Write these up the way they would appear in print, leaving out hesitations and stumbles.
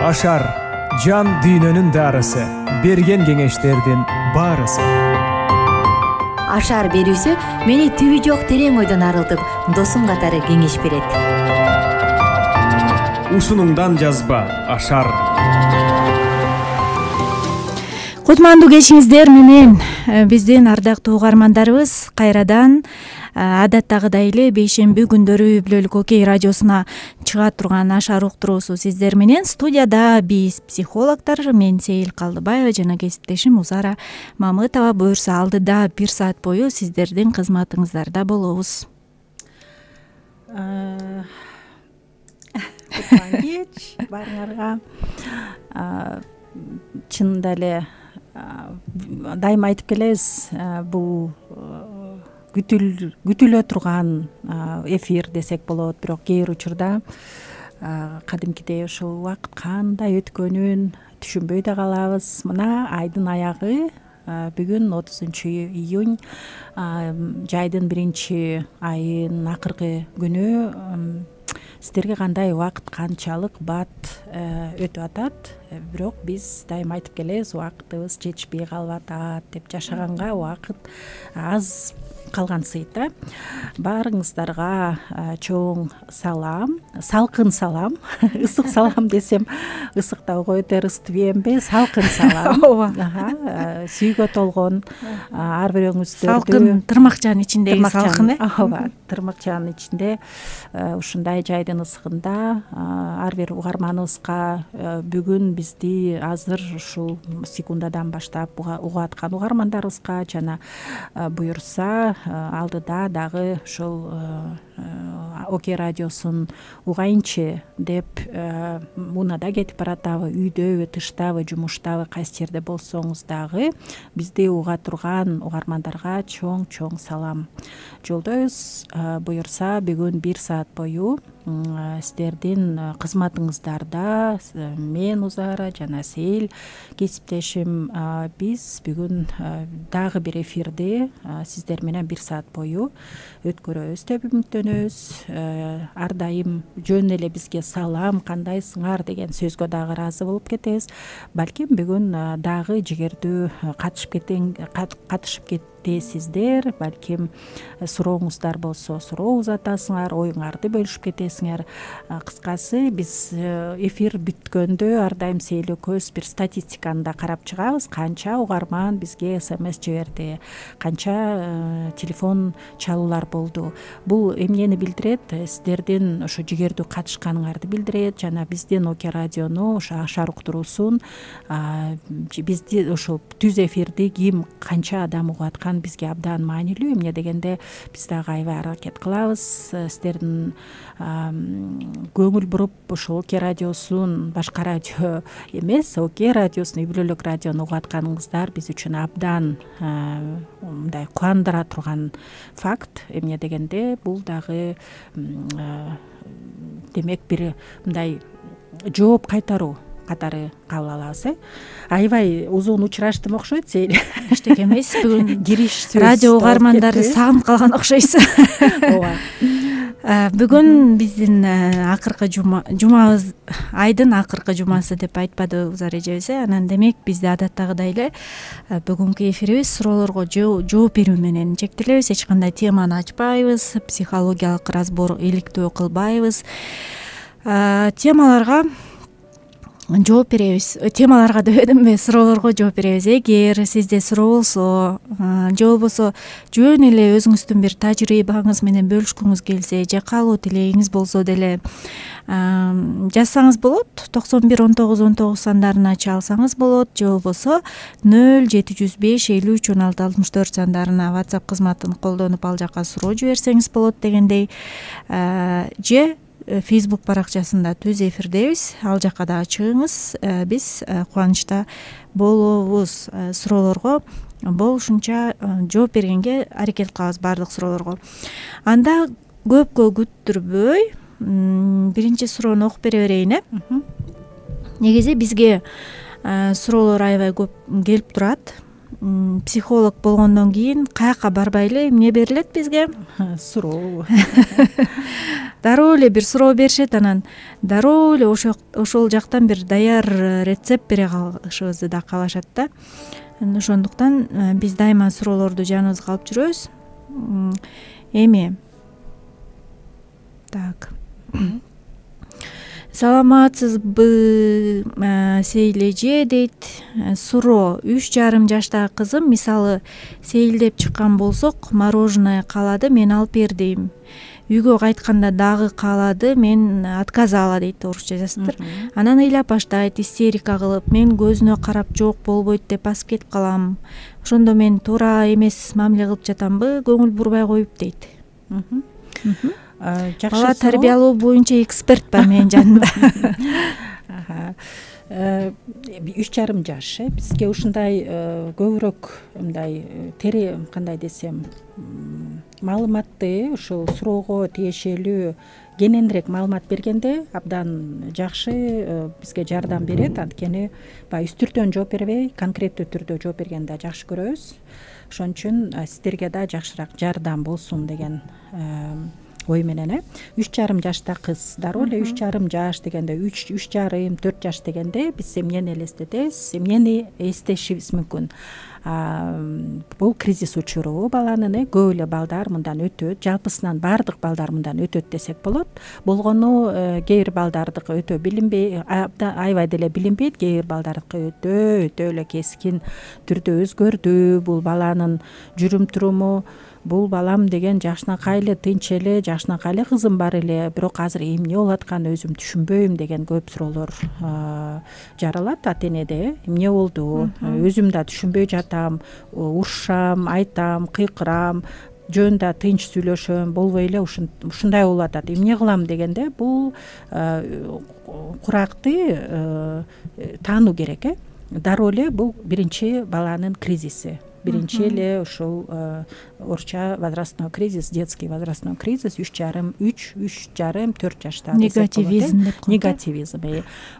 Ашар жан дүйнөнүн дарысы, берген кеңештердин баарысы. Ашар берүүсү мени түбү жок терең ойдон арылтып, досум катары кеңеш берет. Ушунуңдан жазба Ашар. Кутмандуу кечиңиздер менен биздин ардактуу угармандарыбыз кайрадан адаттагыдай эле бейшемби күндөрү Үй Бүлөлүк Окей радиосуна чыга турган Ашар уктуруусу сиздер менен. Студияда биз психологдор, мен Сейил Калдыбаева жана кесиптешим Узара Мамытова. Буюрса алдыда 1 саат бою сиздердин кызматыңыздарда болобуз. Кутман кеч баарыңарга. Чынында эле дайыма айтып келебиз, бул күтүлө турган эфир десек болот, бирок кээ бир учурда кадимкидей ушул убакыт кандай өткөнүн түшүнбөй да калабыз. Мына айдын аягы бүгүн 30-июнь, жайдын 1-айынын акыркы күнү. Сиздерге кандай убакыт, канчалык бат өтүп атат? Бирок биз дайыма айтып келебиз, убакытыбыз жетишпей калып атат деп. Жашаганга убакыт аз калгансыйт да. Баарыңыздарга чоң салам, салкын салам. Ысык салам десем, ысыктауга өтөр ыстыбемби? Салкын салам. Ооба. Сүйгө толгон ар бирөөңүздөрдү. Салкын тырмакчанын ичиндеги салкын, ооба, тырмакчанын ичинде ушундай жайдын ысыгында ар бир угарманыбызга бүгүн бизди азыр ушул секундадан баштап угуп аткан угармандарыбызга жана буюрса алдыда дагы ушул Окей радиосун угайынчы деп унаада кетип баратабы, үйдөбү, тыштабы, жумуштабы, кайсы жерде болсоңуз дагы бизди уга турган угармандарга чоң салам жолдойбуз. Буюрса бүгүн 1 саат бою сиздердин кызматыңыздарда мен Узара жана Сейил кесиптешим биз бүгүн дагы бир эфирди сиздер менен 1 саат бою өткөрөбүз деп үмүттөнөбүз. Ар дайым жөн эле бизге салам, кандайсыңар деген сөзгө дагы ыраазы болуп кетебиз. Балким бүгүн дагы жигердүү катышып кетесиздер. Балким сурооңуздар болсо суроо узатасыңар, оюңарды бөлүшүп кетесиңер. Кыскасы биз эфир бүткөндө ар дайым Сейил экөөбүз бир статистиканы да карап чыгабыз. Канча угарман бизге СМС жиберди, канча телефон чалуулар болду. Бул эмнени билдирет? Сиздердин ошо жигердүү катышканыңарды билдирет жана биздин Окей радиону, ошо Ашар уктуруусун, бизди ошо түз эфирди ким канча адам угуп аткан бизге абдан маанилүү. Эмне дегенде биз дагы аябай аракет кылабыз. Сиздердин көңүл буруп ошол Окей радиосун, башка радио эмес, Окей радиосун, Үй Бүлөлүк радиону угуп атканыңыздар биз үчүн абдан мындай кубандыра турган факт. Эмне дегенде бул дагы демек бир мындай жооп кайтаруу катары кабыл алабыз. Аябай узун учураштым окшойт, Сейил. Эчтеке эмес, бүгүн кириш сөз радио угармандары сагынып калган окшойсуз. Ооба. Бүгүн биздин акыркы жумабыз, айдын акыркы жумасы деп айтпады Узар эжебиз. Анан демек бизде адаттагыдай эле бүгүнкү эфирибиз суроолорго жооп берүү менен чектелебиз. Эч кандай теманы ачпайбыз, психологиялык разбор иликтөө кылбайбыз. Темаларга жооп беребиз. Темаларга деп эдимби, суроолорго жооп беребиз. Эгер сизде суроо болсо же болбосо жөн эле өзүңүздүн бир тажрыйбаңыз менен бөлүшкүңүз келсе, же каалоо тилегиңиз болсо деле жазсаңыз болот. 911919 сандарына чалсаңыз болот, же болбосо 0705 53 16 64 сандарына WhatsApp кызматын колдонуп ал жака суроо жиберсеңиз болот дегендей. Же Facebook баракчасында түз эфирдебиз, ал жака да чыгыңыз. Биз кубанычта болобуз. Суроолорго болушунча жооп бергенге аракет кылабыз, баардык суроолорго. Анда көпкө күттүрбөй биринчи суроону окуп бере берейин. Негизи бизге суроолор аябай көп келип турат. психолог болгондон кийин каяка барбайлы эмне берилет бизге? Суроо. Дароо эле бир суроо беришет, анан дароо эле ошол жактан бир даяр рецепт бере калышыбызды да каалашат да. Ошондуктан биз дайыма суроолорду жаныбызга алып жүрөбүз. Эми так. Саламатсызбы Сейил эже дейт. Суроо: 3,5 жаштагы кызым мисалы сейилдеп чыккан болсок, мороженое каалады, мен алып бердим. Үйгө кайтканда дагы каалады, мен отказала дейт, орусча жазыптыр. Анан ыйлап баштайт, истерика кылып, мен көзүнө карап жок болбойт деп басып кетип калам. Ошондо мен туура эмес мамиле кылып жатамбы, көңүл бурбай коюп дейт. Бала тарбиялоо боюнча эксперт бар менин жанымда. 3,5 жаш, бизге ушундай көбүрөөк мындай кандай десем, маалыматты ушул суроого тиешелүү кененирээк маалымат бергенде абдан жакшы бизге жардам берет. Анткени баягы үстүртөн жооп бербей, конкреттүү түрдө жооп бергенди жакшы көрөбүз. Ошон үчүн сиздерге да жакшыраак жардам болсун деген ой менен 3,5 жашта кыз. Дароо эле 3,5 жаш дегенде 3,5 4 жаш дегенде биз эмнени элестетебиз, эмнени эстешибиз мүмкүн? Бул кризис учуру баланын. Көп эле балдар мындан өтөт, жалпысынан баардык балдар мындан өтөт десек болот. Болгону кээ бир балдардыкы өтө билинбей, аябай деле билинбейт, кээ бир балдардыкы өтө эле кескин түрдө өзгөрдү. Бул баланын жүрүм туруму, бул балам деген жакшынакай эле, тынч эле, жакшынакай эле кызым бар эле, бирок азыр эмне болуп атканын өзүм түшүнбөйм деген көп суроолор жаралат ата энеде. Эмне болду? Өзүм да түшүнбөй жатам, урушам, айтам, кыйкырам, жөн да тынч сүйлөшөм, болбой эле ушундай болуп атат. Эмне кылам дегенде бул куракты таануу керек. Дароо эле бул биринчи баланын кризиси. Биринчи эле ушул орусча возрастной кризис, детский возрастной кризис 3,5 4 жашта негативизм деп коет. Негативизм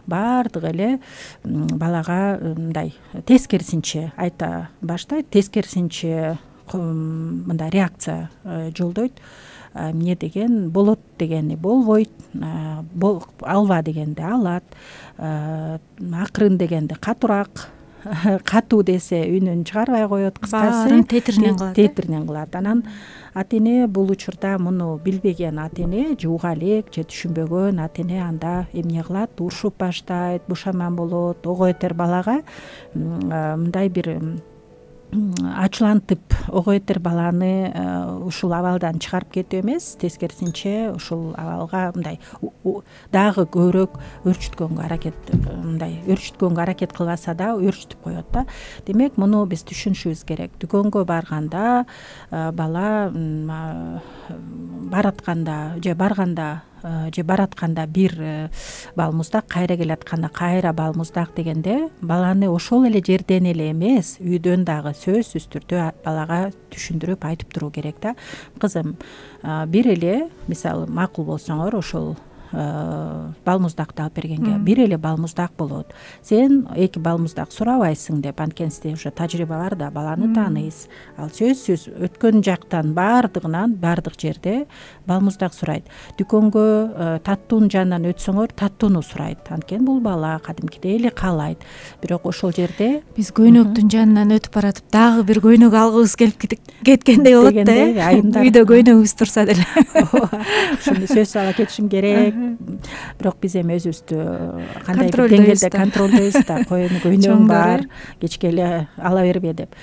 баардыгы эле балага мындай тескерисинче айта баштайт, тескерисинче мындай реакция жолдойт. Эмне деген болот дегени болбойт, алба дегенде алат, акырын дегенде катуураак, катуу десе үнүн чыгарбай коет, кыскасы тетиринен кылат. Анан ата эне бул учурда муну билбеген ата эне, жууга элек же түшүнбөгөн ата эне анда эмне кылат? Урушуп баштайт, бушаман болот. Ого этер балага мындай бир ачуулантып ого этер баланы ушул абалдан чыгарып кетүү эмес, тескерисинче ушул абалга мындай дагы көбүрөөк өөрчүткөнгө аракет кылбаса да өөрчүтүп коет да. Демек муну биз түшүнүшүбүз керек. Дүкөнгө барганда бала баратканда же баратканда бир бал муздак, кайра келатканда кайра бал муздак дегенде баланы ошол эле жерден эле эмес, үйдөн дагы сөзсүз түрдө балага түшүндүрүп айтып туруу керек да. Кызым, бир эле мисалы макул болсоңор ошол бал муздакты алып бергенге бир эле бал муздак болот. Сен 2 бал муздак сурабайсың деп, анткени сизде уже тажрыйба бар да, баланы тааныйсыз. Ал сөзсүз өткөн жактан баардыгынан баардык жерде бал муздак сурайт. Дүкөнгө таттуунун жанынан өтсөңөр таттууну сурайт. Анткени бул бала кадимкидей эле каалайт. Бирок ошол жерде биз көйнөктүн жанынан өтүп баратып дагы бир көйнөк алгыбыз келип кеткендей болот да. Үйдө көйнөгүбүз турса деле. Ошону сөзсүз ала кетишим керек. Бирок биз эми өзүбүздү кандай бир деңгээлде контролдойбуз да, көйнөгүң бар, кечке эле ала бербе деп.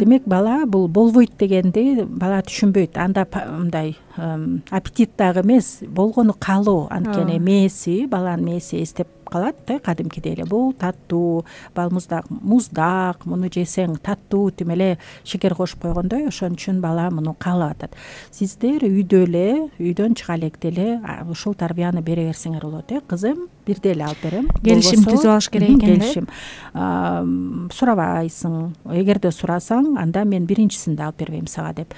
Демек бала бул болбойт дегенди бала түшүнбөйт. Анда мындай аппетит дагы эмес, болгону каалоо. Анткени мээси, баланын мээси эстеп калат да, кадимкидей эле бул таттуу, бал муздак, муну жесең таттуу, тим эле шекер кошуп койгондой. Ошон үчүн бала муну каалап атат. Сиздер үйдөн чыга электе эле ушул тарбияны бере берсеңер болот. Кызым, бирде эле алып берем. Келишим түзүп алыш керек экен. Келишим. Сурабайсың. Эгерде сурасаң, анда мен биринчисинде алып бербейм сага деп.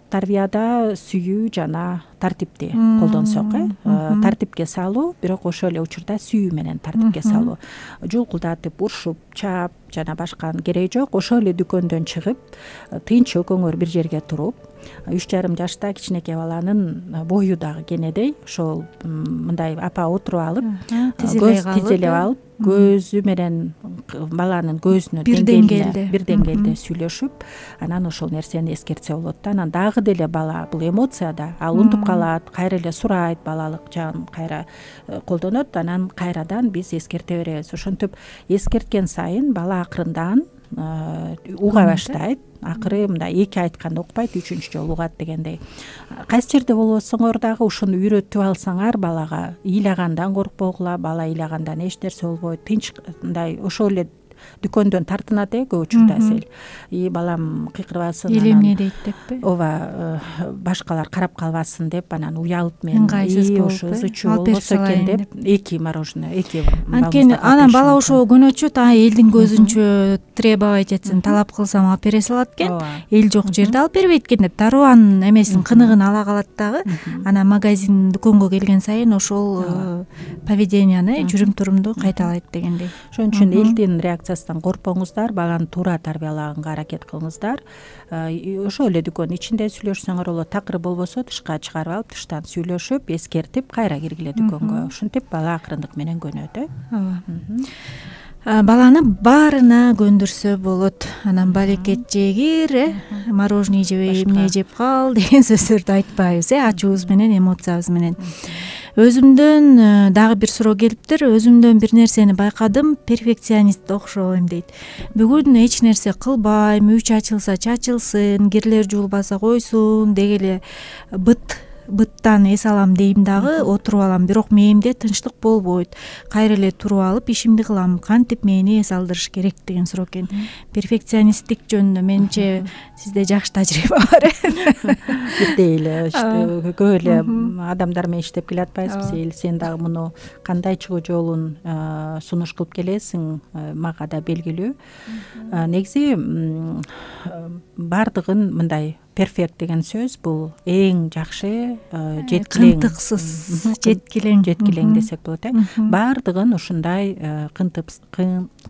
Тарбияда сүйүү жана тартипти колдонсок, тартипке салуу, бирок ошол эле учурда сүйүү менен тартипке салуу. Жулкулдатып, урушуп, чаап жана башка кереги жок. Ошол эле дүкөндөн чыгып, тынч экөөңөр бир жерге туруп, 3,5 жашта кичинекей баланын бою дагы кенедей, ошол мындай апа отуруп алып, тизелеп алып, көзү менен баланын көзүнө бир деңгээлде сүйлөшүп, анан ошол нерсени эскертсе болот да. Анан дагы деле бала бул эмоция да, ал унутуп калат, кайра эле сурайт, балалык жагын кайра колдонот, анан кайрадан биз эскерте беребиз. Ошентип эскерткен сайын бала акырындан уга баштайт. Акыры мындай 2 айтканда укпайт, 3-үчү жолу угат дегендей. Кайсы жерде болбосоңор дагы ушуну үйрөтүп алсаңар балага, ыйлагандан коркпогула, бала ыйлагандан эч нерсе болбойт, тынч мындай ошол эле дүкөндөн тартынат көп учурда сел. Балам кыйкырбасын, эмне дейт деппи? Ооба, башкалар карап калбасын деп, анан уялып мен ошо ызычуу болбосо экен деп 2 мороженое, 2 анткени анан бала ошо көнөчөт, элдин көзүнчө требовать этсин, талап кылсам алып бере салат экен, эл жок жерде алып бербейт экен деп дарыбанын эмесин, кыныгын ала калат дагы. Анан магазин, дүкөнгө келген сайын ошол поведенияны, жүрүм-турумду кайталайт дегендей. Ошон үчүн элдин реакциясынан коркпоңуздар, баланы туура тарбиялаганга аракет кылыңыздар. Ошол эле дүкөндүн ичинде сүйлөшсөңөр болот, такыр болбосо тышка чыгарып алып, тыштан сүйлөшүп, эскертип, кайра киргиле дүкөнгө. Ушинтип бала акырындык менен көнөт. Баланы баарына көндүрсө болот. Анан балекет жегир, мороженое жебей, эмне жеп кал деген сөздөрдү айтпайбыз, ачуубуз менен, эмоциябыз менен. Өзүмдөн дагы бир суроо келиптир. Өзүмдөн бир нерсени байкадым, перфекционист окшойм дейт. Бүгүн эч нерсе кылбайм, үй чачылса чачылсын, кирлер жуулбаса койсун, деги эле быттан эс алам дейм дагы, отуруп алам, бирок мээмде тынчтык болбойт. Кайра эле туруп алып ишимди кылам. Кантип мени эс алдырыш керек деген суроо экен. Перфекционисттик жөнүндө менимче сизде жакшы тажрыйба бар. Бирдей эле көп эле адамдар менен иштеп келатпайбызбы? Сен дагы муну кандай чыгуу жолун сунуш кылып келесиң, мага да белгилүү. Негизи бардыгын мындай перфект деген сөз бул эң жакшы, кынтыксыз, жеткилең десек болот. Бардыгын ушундай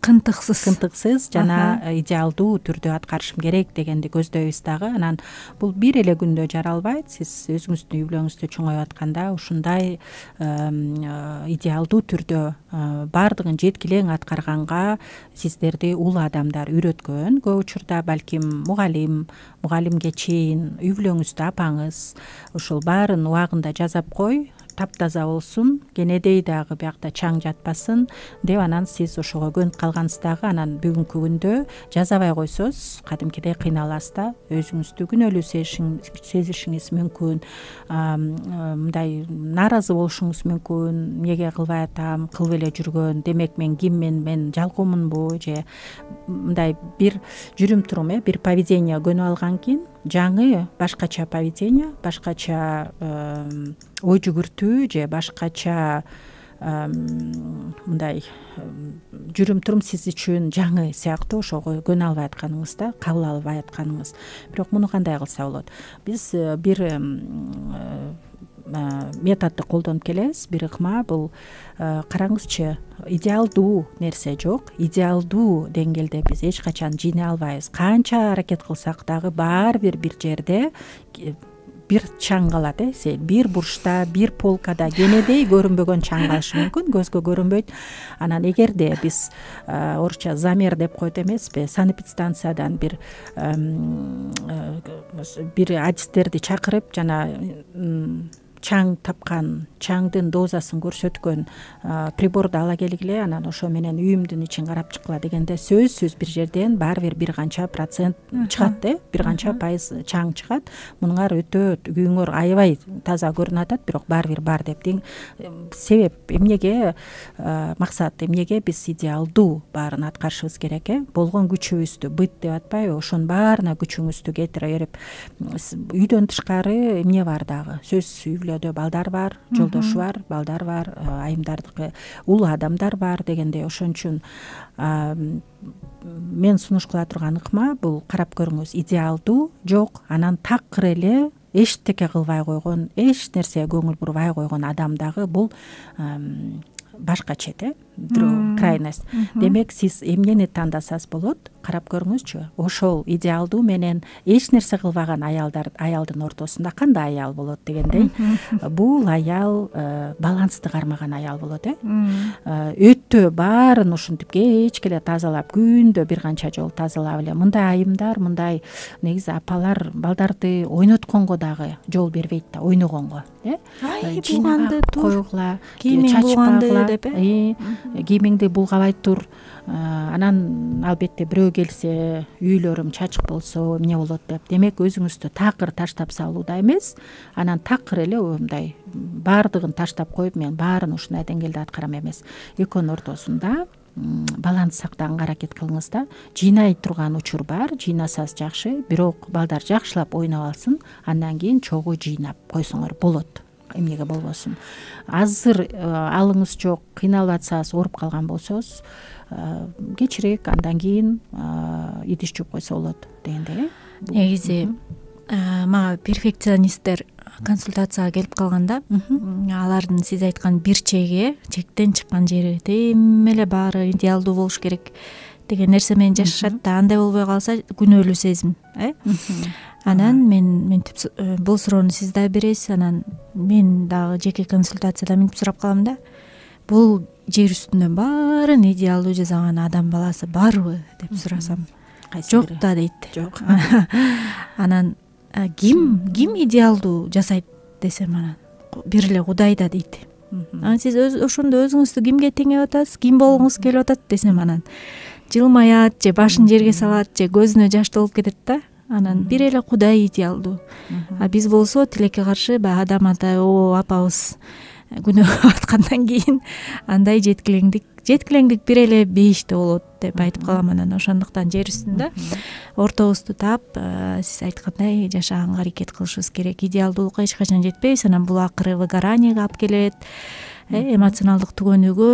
кынтыксыз жана идеалдуу түрдө аткарышым керек дегенди көздөйбүз дагы. Анан бул бир эле күндө жаралбайт. Сиз өзүңүздүн үй бүлөңүздү чоңоюп атканда ушундай идеалдуу түрдө бардыгын жеткилең аткарганга сиздерди улуу адамдар үйрөткөн. Көп учурда балким мугалимге чейин үй бүлөңүздө апаңыз ушул баарын убагында жасап кой, таптаза болсун, кенедей дагы биякта чаң жатпасын деп, анан сиз ошого көнүп калгансыз дагы. Анан бүгүнкү күндө жасабай койсоз кадимкидей кыйналасыз да, өзүңүздү күнөөлүү сезишиңиз мүмкүн, мындай нааразы болушуңуз мүмкүн. Эмнеге кылбай атам, кылып эле жүргөн, демек мен киммин, мен жалкоомунбу, же мындай бир жүрүм-турум, бир поведение көнүп алган кийин жаңы башкача поведение, башкача ой жүгүртүү же башкача мындай жүрүм-турум сиз үчүн жаңы сыяктуу, ошого көнө албай атканыңыз да, кабыл албай атканыңыз. Бирок муну кандай кылса болот? Биз бир методду колдонуп келебиз. Бир ыкма бул, караңызчы, идеалдуу нерсе жок. Идеалдуу деңгээлде биз эч качан жийне албайбыз. Канча аракет кылсак дагы баары бир жерде бир чаң калат. Бир бурчта, бир полкада кенедей көрүнбөгөн чаң калышы мүмкүн, көзгө көрүнбөйт. Анан эгерде биз орусча замер деп коет эмеспи, санэпидстанциядан бир адистерди чакырып жана чаң тапкан, чаңдын дозасын көрсөткөн приборду ала келгиле, анан ошо менен үйүмдүн ичин карап чыккыла дегенде сөзсүз бир жерден баары бир канча процент чыгат, бир канча пайыз чаң чыгат. Мунуңар өтө үйүңөр аябай таза көрүнүп атат, бирок баары бир бар деп. Себеп эмнеге, максат эмнеге биз идеалдуу баарын аткарышыбыз керек? Болгон күчүбүздү быт деп атпайбы? Ошонун баарына күчүңүздү кетире берип, үйдөн тышкары эмне бар дагы? Сөзсүз балдар бар, жолдошу бар, балдар бар, айымдардыкы улуу адамдар бар дегендей. Ошон үчүн мен сунуш кыла турган ыкма бул, карап көрүңүз, идеалдуу жок, анан такыр эле эчтеке кылбай койгон, эч нерсеге көңүл бурбай койгон адам дагы бул башкача крайность. Демек сиз эмнени тандасаңыз болот, карап көрүңүзчү. Ошол идеалдуу менен эч нерсе кылбаган аялдын ортосунда кандай аял болот дегендей, бул аял балансты кармаган аял болот. Өтө баарын ушинтип кечке эле тазалап, күндө бир канча жолу тазалап эле, мындай айымдар, мындай негизи апалар балдарды ойнотконго дагы жол бербейт да, ойногонго. Булганды койгула, кийимиң булганды деп, кийимиңди булгабай тур. Анан албетте бирөө келсе, үйлөрүм чачык болсо эмне болот деп. Демек өзүңүздү такыр таштап салууда эмес, анан такыр эле мындай баардыгын таштап коюп, мен баарын ушундай деңгээлде аткарам эмес. Экөөнүн ортосунда баланс сактаганга аракет кылыңыз да. Жыйнай турган учур бар, жыйнасаңыз жакшы, бирок балдар жакшылап ойноп алсын, андан кийин чогуу жыйнап койсоңор болот. Эмнеге болбосун. Азыр алыңыз жок, кыйналып атсаңыз, ооруп калган болсоңуз, кечирээк андан кийин идиш жууп койсо болот дегендей. Негизи мага перфекционисттер консультацияга келип калганда, алардын сиз айткан бир чектен чыккан жери, эми эле баары идеалдуу болуш керек деген нерсе менен жашашат да, андай болбой калса күнөөлүү сезим. Анан мен бул суроону сиз да бересиз, анан мен дагы жеке консультацияда мынтип сурап калам да. Бул жер үстүнөн баарын идеалдуу жасаган адам баласы барбы деп сурасам, жок да дейт. Жок. Анан ким идеалдуу жасайт десем, анан бир эле Кудай да дейт. Анан сиз ошондо өзүңүздү кимге теңеп атасыз, ким болгуңуз келип атат десем, анан жылмаят же башын жерге салат же көзүнө жаш толуп кетет да. Анан бир эле Кудай идеалдуу. Биз болсо тилекке каршы баягы адам ата апабыз күнөө аткандан кийин андай жеткилеңдик бир эле бейиште болот деп айтып калам. Анан ошондуктан жер үстүндө ортобузду таап, сиз айткандай жашаганга аракет кылышыбыз керек. Идеалдуулукка эч качан жетпейбиз, анан бул акыры выгораниеге алып келет. Эмоционалдык түгөнүүгө,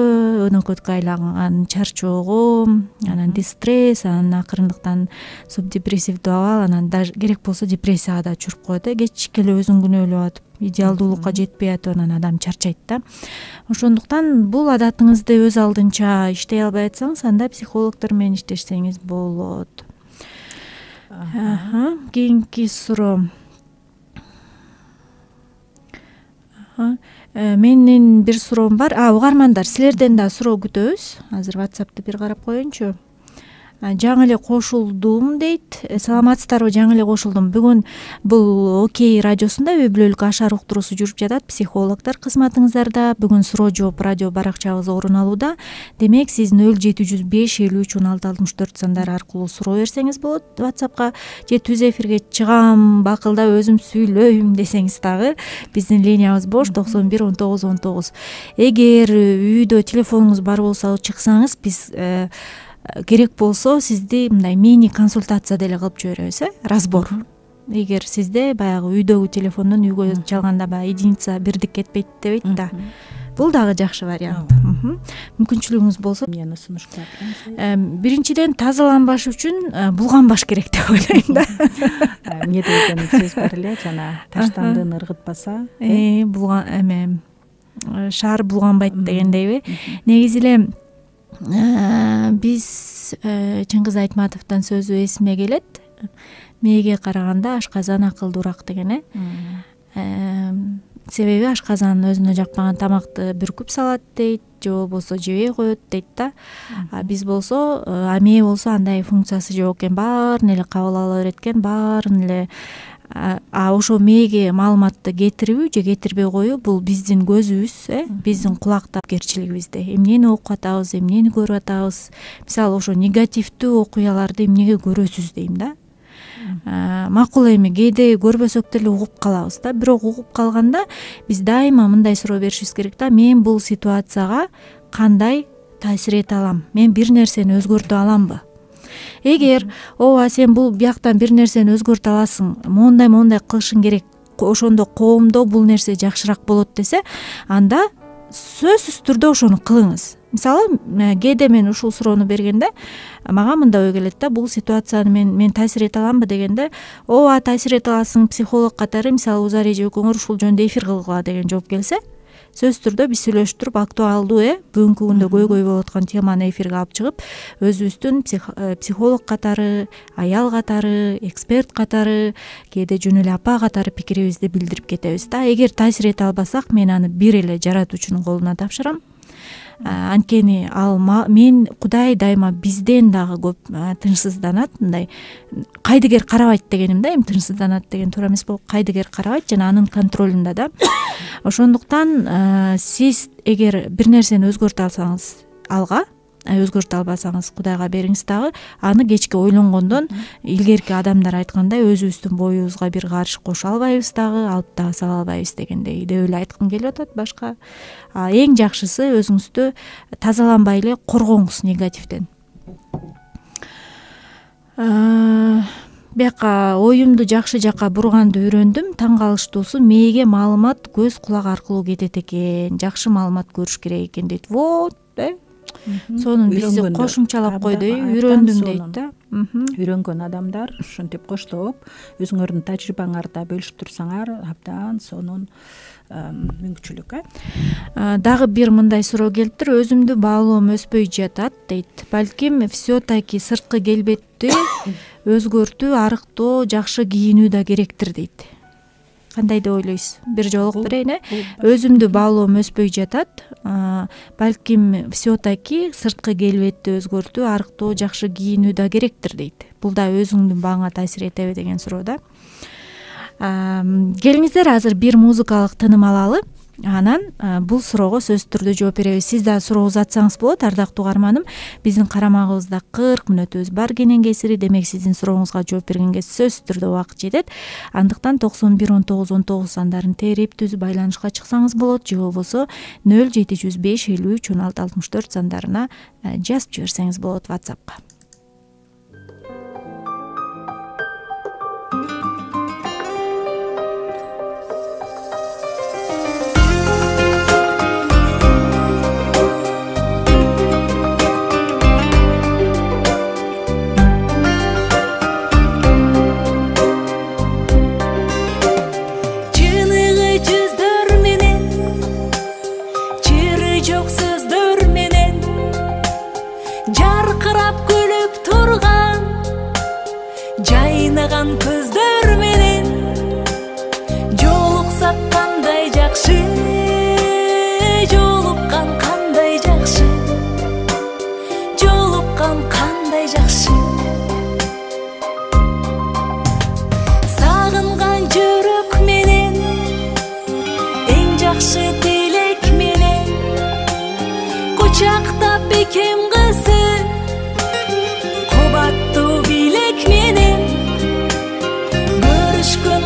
өнөкөткө айланган чарчоого, анан дистресс, анан акырындыктан субдепрессивдүү абал, анан даже керек болсо депрессияга да чуруп коет. Кечке эле өзүн күнөөлөп атып, идеалдуулукка жетпей атып, анан адам чарчайт да. Ошондуктан бул адатыңызды өз алдынча иштей албай атсаңыз, анда психологдор менен иштешсеңиз болот. Кийинки суроо. Менин бир суроом бар. Угармандар, силерден да суроо күтөбүз. Азыр WhatsApp'ты бир карап коеюнчу. Жаңы эле кошулдум дейт. Саламатсыздарбы? Жаңы эле кошулдум. Бүгүн бул Окей радиосунда үй бүлөлүк ашар уктуруусу жүрүп жатат. Психологдор кызматыңыздарда. Бүгүн суроо жооп радио баракчабыз орун алууда. Демек, сиз 0705 53 16 64 сандары аркылуу суроо берсеңиз болот. WhatsApp'ка же түз эфирге чыгам, бакылдап өзүм сүйлөйм десеңиз дагы биздин линиябыз бош 91 19 19. Эгер үйдө телефонуңуз бар болсо чыксаңыз, биз керек болсо сизди мындай мини консультация деле кылып жиберебиз, разбор. Эгер сизде баягы үйдөгү телефондон үйгө чалганда баягы единица бирдик кетпейт дебейт да. Бул дагы жакшы вариант. Мүмкүнчүлүгүңүз болсо Эмнени сунуштап? Биринчиден тазаланбаш үчүн булганбаш керек деп ойлойм да. Эмне деген сөз бар эле, жана таштандыны ыргытпаса, булган шаар булганбайт дегендейби. Негизи эле биз Чыңгыз Айтматовдун сөзү эсиме келет. Мээге караганда ашказан акылдуураак деген. Себеби ашказан өзүнө жакпаган тамакты бүркүп салат дейт, же болбосо жебей коет дейт да. Биз болсо, мээ болсо андай функциясы жок экен, баарын эле кабыл ала берет экен, баарын эле. Ошо мээге маалыматты кетирүү же кетирбей коюу бул биздин көзүбүз, биздин кулактап керчилигибизде. Эмнени окуп атабыз, эмнени көрүп атабыз. Мисалы, ошо негативдүү окуяларды эмнеге көрөсүз дейм да. Макул эми кээде көрбөсөк деле угуп калабыз да. Бирок угуп калганда биз дайыма мындай суроо беришибиз керек да. Мен бул ситуацияга кандай таасир эте алам? Мен бир нерсени өзгөртө аламбы? Эгер ооба сен бул бияктан бир нерсени өзгөртө аласың, мондай кылышың керек, ошондо коомдо бул нерсе жакшыраак болот десе, анда сөзсүз түрдө ошону кылыңыз. Мисалы, кээде мен ушул суроону бергенде мага мындай ой келет да, бул ситуацияны мен таасир эте аламбы дегенде, ооба таасир эте аласың, психолог катары, мисалы Узар эжебекөңөр ушул жөнүндө эфир кылгыла деген жооп келсе, сөзсүз түрдө биз сүйлөшүп туруп актуалдуу бүгүнкү күндө көйгөй болуп аткан теманы эфирге алып чыгып, өзүбүздүн психолог катары, аял катары, эксперт катары, кээде жөн эле апа катары пикирибизди билдирип кетебиз да. Эгер таасир эте албасак, мен аны бир эле жаратуучунун колуна тапшырам. Анткени мен Кудай дайыма бизден дагы көп тынчсызданат, мындай кайдыгер карабайт дегеним да, эми тынчсызданат деген туура эмес болуп, кайдыгер карабайт жана анын контролунда да. Ошондуктан сиз эгер бир нерсени өзгөртө алсаңыз алга, өзгөртө албасаңыз Кудайга бериңиз дагы. Аны кечке ойлонгондон илгерки адамдар айткандай өзүбүздүн боюбузга бир карыш кошо албайбыз дагы, алып дагы сала албайбыз дегендей деп эле айткым келип атат. Башка эң жакшысы өзүңүздү тазаланбай эле коргоңуз негативден. Бияка оюмду жакшы жакка бурганды үйрөндүм. Таң калыштуусу мээге маалымат көз кулак аркылуу кетет экен. Жакшы маалымат көрүш керек экен дейт. Вот, сонун бизди кошумчалап койду, үйрөндүм дейт да. Үйрөнгөн адамдар ушинтип коштоп, өзүңөрдүн тажрыйбаңарды бөлүшүп турсаңар, абдан сонун мүмкүнчүлүк. Дагы бир мындай суроо келиптир. Өзүмдү баалоом өспөй жатат дейт. Балким все-таки сырткы келбетти өзгөртүү, арыктоо, жакшы кийинүү да керектир дейт. Кандай деп ойлойсуз? Бир жолук берейин. Өзүмдү баалоом өспөй жатат. Балким все-таки сырткы келбетти өзгөртүү, арыктоо, жакшы кийинүү да керектир дейт. Бул да өзүңдүн бааңа таасир этеби деген суроо да. Келиңиздер, азыр бир музыкалык тыным алалы. Анан бул суроого сөзсүз түрдө жооп беребиз. Сиз да суроо узатсаңыз болот, ардактуу угарманым. Биздин карамагыбызда 40 мүнөтүбүз бар кенен кесири. Демек сиздин сурооңузга жооп бергенге сөзсүз түрдө убакыт жетет. Андыктан 91 19 19 сандарын терип түзүп байланышка чыксаңыз болот, же болбосо 0705 53 16 64 сандарына жазып жиберсеңиз болот WhatsAppка. Көздөр менен жолуксак кандай жакшы, жолуккан кандай жакшы, жолуккан кандай жакшы. Сагынган жүрөк менен эң жакшы тилек менен кучактап бекем кызы, кубаттуу билек менен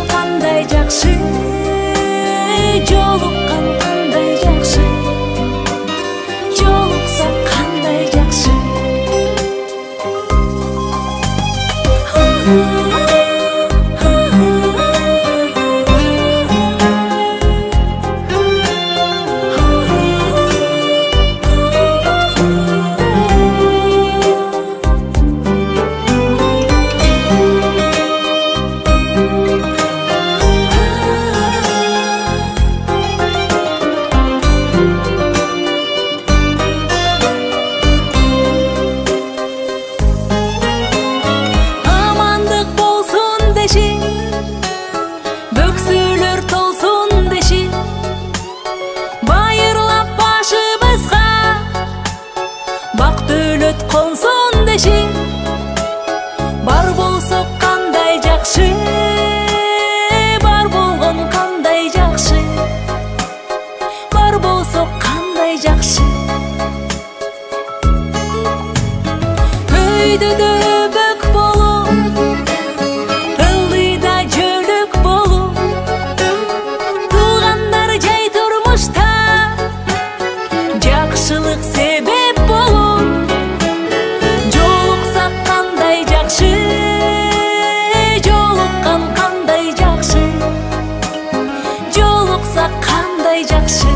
кандай жакшы, жолуккан кандай жакшы, жолуксак кандай жакшы. Бар болсок кандай жакшы, бар болгон кандай жакшы, бар болсок кандай жакшы. Өйдөдө бөк болуп, ылдыйда жөлөк болуп, туугандар жай турмушта жакшылык себеп болуп, жолуккан кандай жакшы, жолуксак кандай жакшы.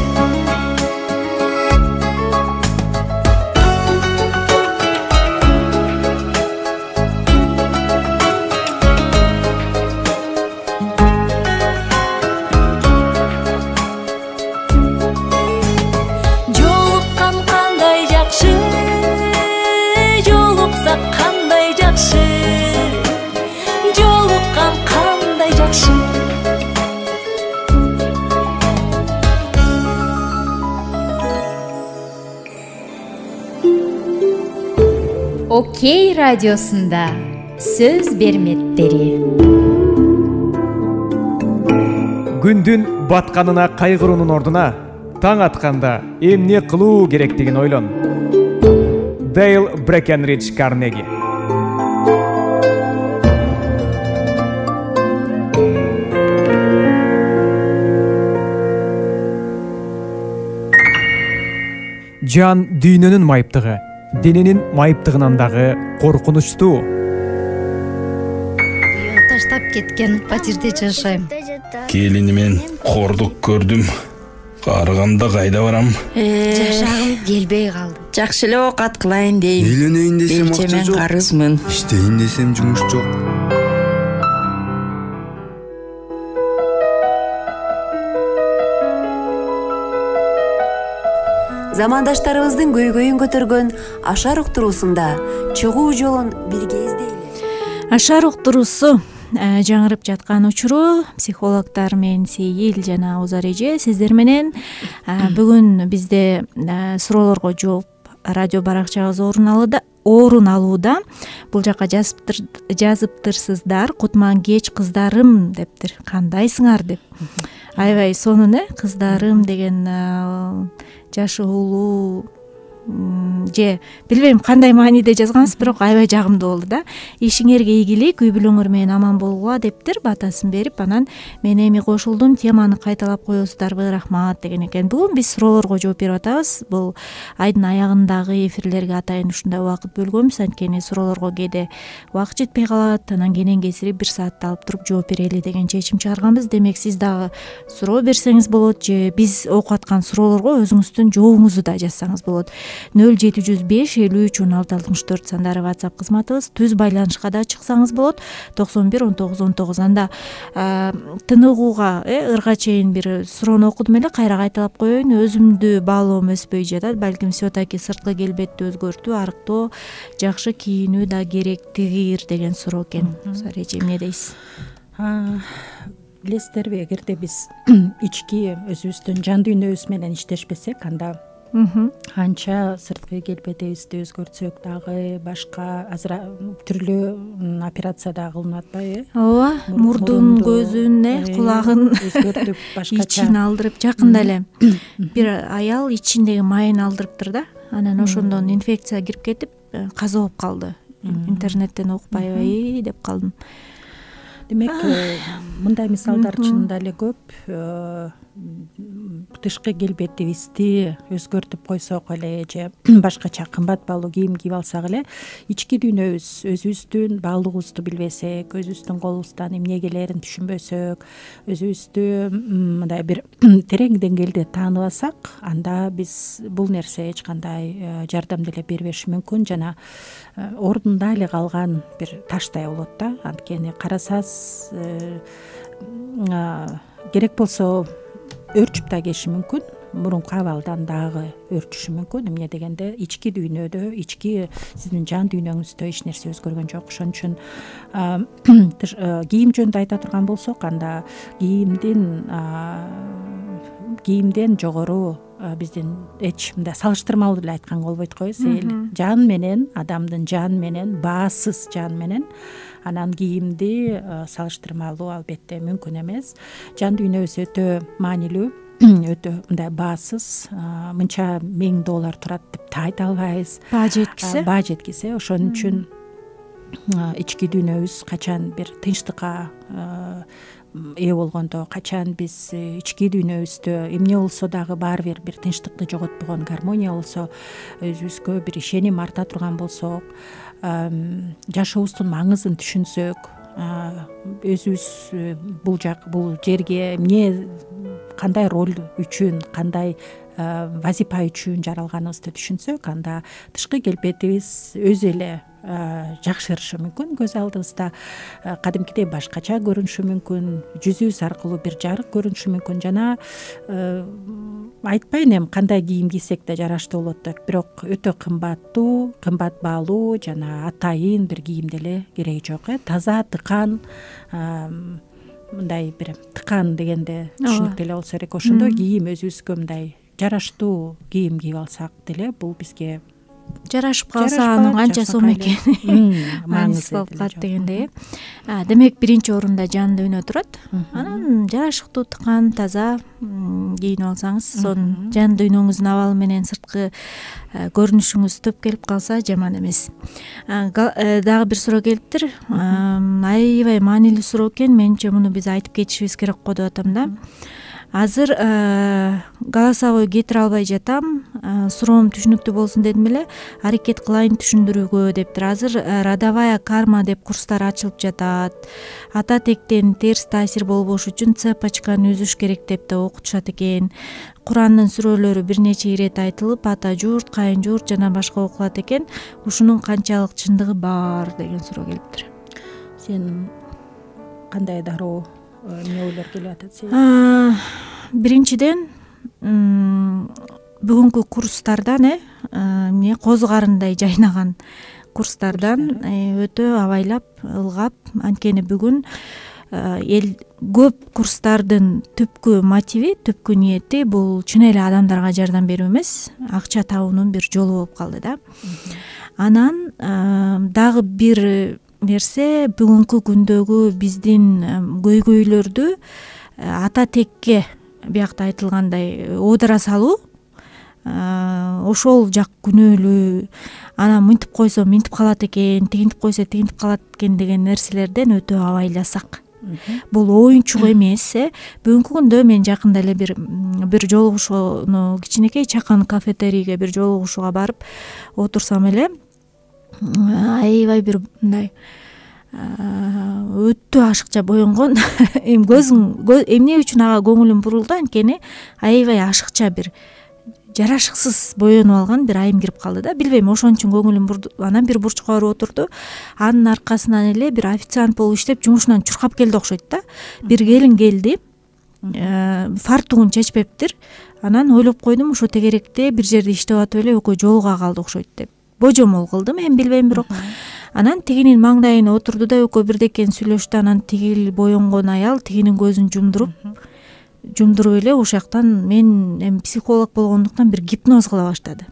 Окей радиосунда сөз берметтери. Күндүн батканына кайгыруунун ордуна таң атканда эмне кылуу керектигин ойлон. Дейл Брекенридж Карнеги. Жан дүйнөнүн майыптыгы, дененин майыптыгынан дагы коркунучтуу. Таштап кеткен фатирде жашайм. Келинимен кордук көрдүм. Карыганда кайда барам? Жашагым келбей калды. Жакшы эле оокат кылайын дейм. Үйлөнөйүн десем акча Мен жок. карызмын. Иштейин десем жумуш жок. Замандаштарыбыздын көйгөйүн көтөргөн Ашар уктуруусунда чыгуу жолун бирге издейли. Ашар уктуруусу жаңырып жаткан учуру психологдор мен Сейил жана Узар эже сиздер менен бүгүн бизде суроолорго жооп радио баракчабыз орун алууда. Бул жака жазыптырсыздар. Кутман кеч кыздарым дептир. Кандайсыңар деп. Аябай сонун кыздарым деген жашы улуу же билбейм кандай мааниде жазгансыз, бирок аябай жагымдуу болду да. Ишиңерге ийгилик, үй бүлөңөр менен аман болгула дептир, батасын берип, анан мен эми кошулдум, теманы кайталап коесуздарбы, рахмат деген экен. Бүгүн биз суроолорго жооп берип атабыз. Бул айдын аягындагы эфирлерге атайын ушундай убакыт бөлгөнбүз, анткени суроолорго кээде убакыт жетпей калат, анан кенен кесирип 1 саатты алып туруп жооп берели деген чечим чыгарганбыз. Демек сиз дагы суроо берсеңиз болот, же биз окуп аткан суроолорго өзүңүздүн жообуңузду да жазсаңыз болот. 0705 53 16 64 сандары WhatsApp кызматыбыз. Түз байланышка да чыксаңыз болот. 91 19 19. Анда тыныгууга ырга чейин бир суроону окудум эле, кайра кайталап коеюн. Өзүмдү баалоом өспөй жатат. Балким все-таки сырткы келбетти өзгөртүү, арыктоо, жакшы кийинүү да керектигир деген суроо экен. Сареже эмне дейсиз? Билесиздерби, эгерде биз ички өзүбүздүн жан дүйнөбүз менен иштешпесек, анда анча сырткы келбетибизди өзгөртсөк дагы башка азыр түрлүү операция да кылынып атпайбы? Ооба, мурдун, көзүн, кулагын өзгөртүп башкача ичин алдырып. Жакында эле бир аял ичиндеги майын алдырыптыр да. Анан ошондон инфекция кирип кетип, каза болуп калды. Интернеттен окуп аябай деп калдым. Демек, мындай мисалдар чынында эле көп. Тышкы келбетибизди өзгөртүп койсок эле же башкача кымбат баалуу кийим кийип алсак эле, ички дүйнөбүз, өзүбүздүн баалугубузду билбесек, өзүбүздүн колубуздан эмне келерин түшүнбөсөк, өзүбүздү мындай бир терең деңгээлде тааныбасак, анда биз бул нерсе эч кандай жардам деле бербеши мүмкүн жана ордунда эле калган бир таштай болот да. Анткени карасаңыз керек болсо өрчүп да кетиши мүмкүн, мурунку абалдан дагы өрчүшү мүмкүн. Эмне дегенде ички дүйнөдө, ички сиздин жан дүйнөңүздө эч нерсе өзгөргөн жок. Ошон үчүн кийим жөнүндө айта турган болсок, анда кийимден жогору биздин эч мындай салыштырмалуу деле айтканга болбойт го, Сейил. Жан менен, адамдын жан менен, баасыз жан менен анан кийимди салыштырмалуу албетте мүмкүн эмес. Жан дүйнөбүз өтө маанилүү, өтө мындай баасыз, мынча $1000 турат деп та айта албайбыз. Баа жеткисе, ошон үчүн ички дүйнөбүз качан бир тынчтыкка ээ болгондо, качан биз ички дүйнөбүздө эмне болсо дагы баары бир тынчтыкты жоготпогон, гармония болсо, өзүбүзгө бир ишеним арта турган болсок, жашообуздун маңызын түшүнсөк, өзүбүз бул жерге эмне, кандай роль үчүн, кандай вазипа үчүн жаралганыбызды түшүнсөк, анда тышкы келбетибиз өзү эле жакшырышы мүмкүн, көз алдыбызда кадимкидей башкача көрүнүшү мүмкүн, жүзүбүз аркылуу бир жарык көрүнүшү мүмкүн жана айтпайын эми кандай кийим кийсек да жараштуу болот деп, бирок өтө кымбаттуу, кымбат баалуу жана атайын бир кийим деле кереги жок. Таза, тыкан, мындай бир тыкан дегенде түшүнүктүү эле болсо керек. Ошондой кийим өзүбүзгө мындай жараштуу кийим кийип алсак деле, бул бизге жарашып калса анын канча сом экени маңызды болуп калат дегендей. Демек биринчи орунда жан дүйнө турат. Анан жарашыктуу, тыкан, таза кийинип алсаңыз, сонун жан дүйнөңүздүн абалы менен сырткы көрүнүшүңүз төп келип калса жаман эмес. Дагы бир суроо келиптир. Аябай маанилүү суроо экен. Менимче муну биз айтып кетишибиз керек го деп атам да. Азыр голосовой кетире албай жатам. Суроом түшүнүктүү болсун дедим эле. Аракет кылайын түшүндүрүүгө дептир. Азыр родовая карма деп курстар ачылып жатат. Ата тектен терс таасир болбош үчүн цепочканы үзүш керек деп да окутушат экен. Курандын сүрөлөрү бир нече ирет айтылып, ата журт, кайын журт жана башка окулат экен. Ушунун канчалык чындыгы бар деген суроо келиптир. Сен кандай дароо эмне ойлор келип атат сен? Биринчиден бүгүнкү курстардан эмне козу карындай жайнаган курстардан өтө абайлап, ылгап, анткени бүгүн эл көп курстардын түпкү мотиви, түпкү ниети бул чын эле адамдарга жардам берүү эмес, акча табуунун бир жолу болуп калды да. Анан дагы бир нерсе, бүгүнкү күндөгү биздин көйгөйлөрдү ата текке биякта айтылгандай оодура салуу, ошол жак күнөөлүү, анан мынтип койсо мынтип калат экен, тигинтип койсо тигинтип калат экен деген нерселерден өтө абайласак. Бул оюнчук эмес. Бүгүнкү күндө мен жакында эле бир жолугушууну, кичинекей чакан кафетерийге бир жолугушууга барып отурсам эле, аябай бир мындай өтө ашыкча боенгон эмне үчүн ага көңүлүм бурулду, анткени аябай ашыкча бир жарашыксыз боенуп алган бир айым кирип калды да. Билбейм, ошон үчүн көңүлүм бурду. Анан бир бурчка барып отурду. Анын аркасынан эле бир официант болуп иштеп жумушунан чуркап келди окшойт да. Бир келин келди, фартугун чечпептир. Анан ойлоп койдум, ошо тегеректе бир жерде иштеп атып эле экөө жолуга калды окшойт деп. Божомол кылдым, мен билбейм, бирок. Анан тигинин маңдайына отурду да экөө бирдекени сүйлөштү. Анан тигил боенгон аял тигинин көзүн жумдуруп эле ошол жактан мен эми психолог болгондуктан бир гипноз кыла баштады.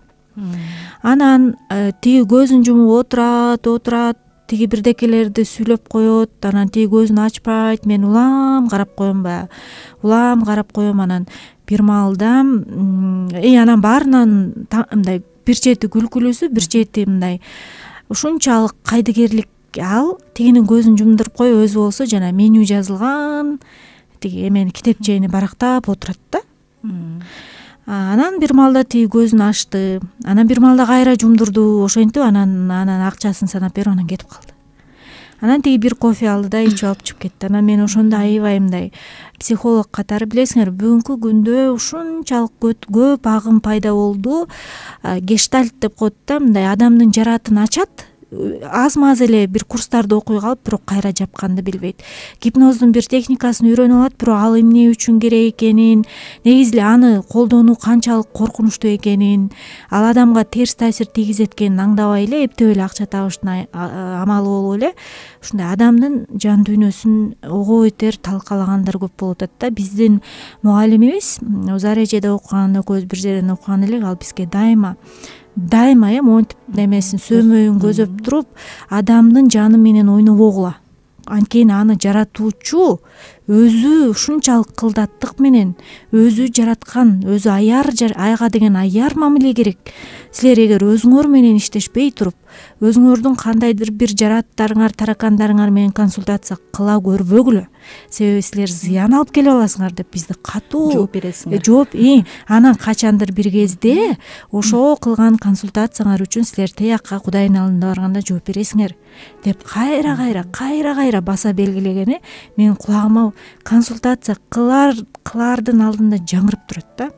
Анан тиги көзүн жумуп отурат, тиги бирдекелерди сүйлөп коет, анан тиги көзүн ачпайт. Мен улам карап коем баягы. Улам карап коем. Анан бир маалда анан баарынан мындай бир чети күлкүлүүсү, бир чети мындай ушунчалык кайдыгерлик. Ал тигинин көзүн жумдуруп коюп, өзү болсо жана меню жазылган тиги эмени китепчени барактап отурат да. Анан бир маалда тиги көзүн ачты. Анан бир маалда кайра жумдурду, ошентип анан акчасын санап берип анан кетип калды. Анан тиги бир кофе алды да ичип алып чыгып кетти. Анан мен ошондо аябай мындай психолог катары, билесиңер, бүгүнкү күндө ушунчалык көп агым пайда болду. Гештальт деп коет да, мындай адамдын жаратын ачат. Аз-маз эле бир курстарды окуй калып, бирок кайра жапканды билбейт. Гипноздун бир техникасын үйрөнүп алат, бирок ал эмне үчүн керек экенин, негизи эле аны колдонуу канчалык коркунучтуу экенин, ал адамга терс таасир тийгизет экенин аңдабай эле эптеп эле акча табыштын амалы болуп эле ушундай адамдын жан дүйнөсүн ого бетер талкалагандар көп болуп атат да. Биздин мугалимибиз Зарежеде окуган, экөөбүз бир жерден окуган элек, ал бизге дайыма монтип немесин сөмөйүн көзөп туруп, адамдын жаны менен ойнобогула. Анткени аны жаратуучу өзү ушунчалык кылдаттык менен өзү жараткан, өзү айга деген аяр мамиле керек. Силер эгер өзүңөр менен иштешпей туруп, өзүңөрдүн кандайдыр бир жараттарыңар, таракандарыңар менен консультация кыла көрбөгүлө. Себеби силер зыян алып келип аласыңар деп бизди катуу жооп бересиңер. Анан качандыр бир кезде ошол кылган консультацияңар үчүн силер тиякка Кудайдын алдына барганда жооп бересиңер деп кайра баса белгилегени менин кулагыма консультация кылардын алдында жаңырып турат да.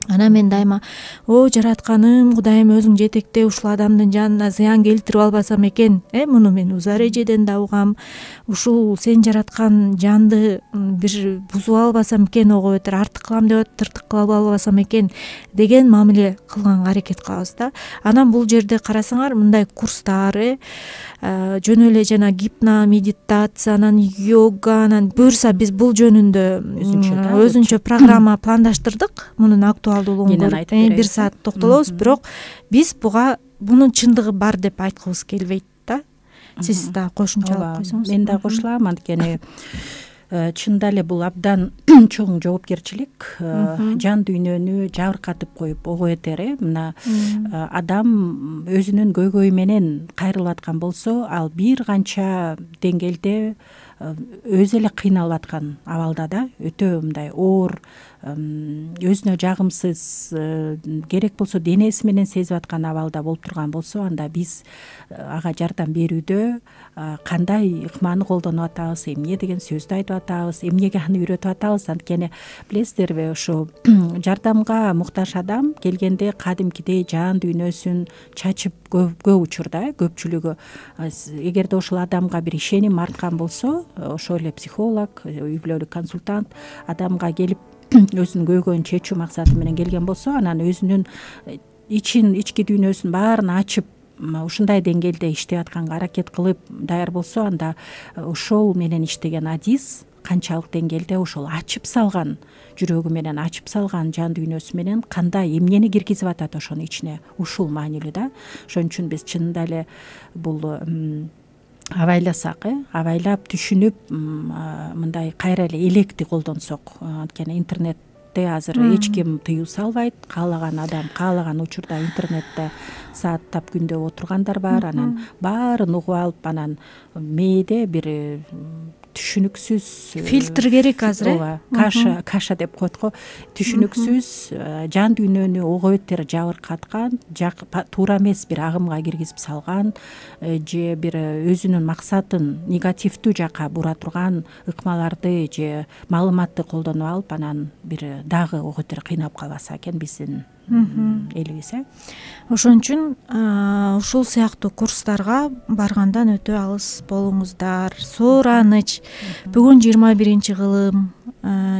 Анан мен дайыма жаратканым, Кудайым өзүң жетекте, ушул адамдын жанына зыян келтирип албасам экен. Муну мен Зарежеден да угам. Ушул сен жараткан жанды бир бузуп албасам экен, ого бетер артык кылам деп тыртык кылып албасам экен деген мамиле кылганга аракет кылабыз да. Анан бул жерде карасаңар, мындай курстар, жөн эле жана гипно, медитация, анан йога, анан буюрса биз бул жөнүндө өзүнчө программа пландаштырдык. Мунун актуалдыгы актуалдуулугун көрүп бир саат токтолобуз, бирок биз мунун чындыгы бар деп айткыбыз келбейт да. Сиз да кошумчалап койсоңуз. Мен да кошулам, анткени чында эле бул абдан чоң жоопкерчилик. Жан дүйнөнү жабыркатып коюп ого этер. Мына адам өзүнүн көйгөйү менен кайрылып аткан болсо, ал бир канча деңгээлде өзү эле кыйналып аткан абалда да, өтө мындай оор, өзүнө жагымсыз, керек болсо денеси менен сезип аткан абалда болуп турган болсо, анда биз ага жардам берүүдө кандай ыкманы колдонуп атабыз, эмне деген сөздү айтып атабыз, эмнеге аны үйрөтүп атабыз. Анткени билесиздерби, ушу жардамга муктаж адам келгенде кадимкидей жан дүйнөсүн чачып көп учурда, көпчүлүгү, эгерде ошол адамга бир ишеним арткан болсо, ошол эле психолог, үй бүлөлүк консультант адамга келип өзүнүн көйгөйүн чечүү максаты менен келген болсо, анан өзүнүн ички дүйнөсүн баарын ачып ушундай деңгээлде иштеп атканга аракет кылып даяр болсо, анда ошол менен иштеген адис канчалык деңгээлде ошол ачып салган жүрөгү менен, ачып салган жан дүйнөсү менен кандай эмнени киргизип атат ошонун ичине, ушул маанилүү да. Ошон үчүн биз чынында эле бул абайласак, абайлап түшүнүп, мындай кайра эле электи колдонсок, анткени интернетте азыр эч ким тыюу салбайт, каалаган адам каалаган учурда интернетте сааттап күндөп отургандар бар, анан баарын угуп алып, анан мээде бир түшүнүксүз фильтр керек азыр, каша деп коет го, түшүнүксүз жан дүйнөнү ого бетер жабыркаткан, туура эмес бир агымга киргизип салган, же бир өзүнүн максатын негативдүү жакка бура турган ыкмаларды же маалыматты колдонуп алып, анан бир дагы ого бетер кыйнап калбаса экен биздин элибиз. Ошон үчүн ушул сыяктуу курстарга баргандан өтө алыс болуңуздар. Сооранч. Бүгүн 21-кылым.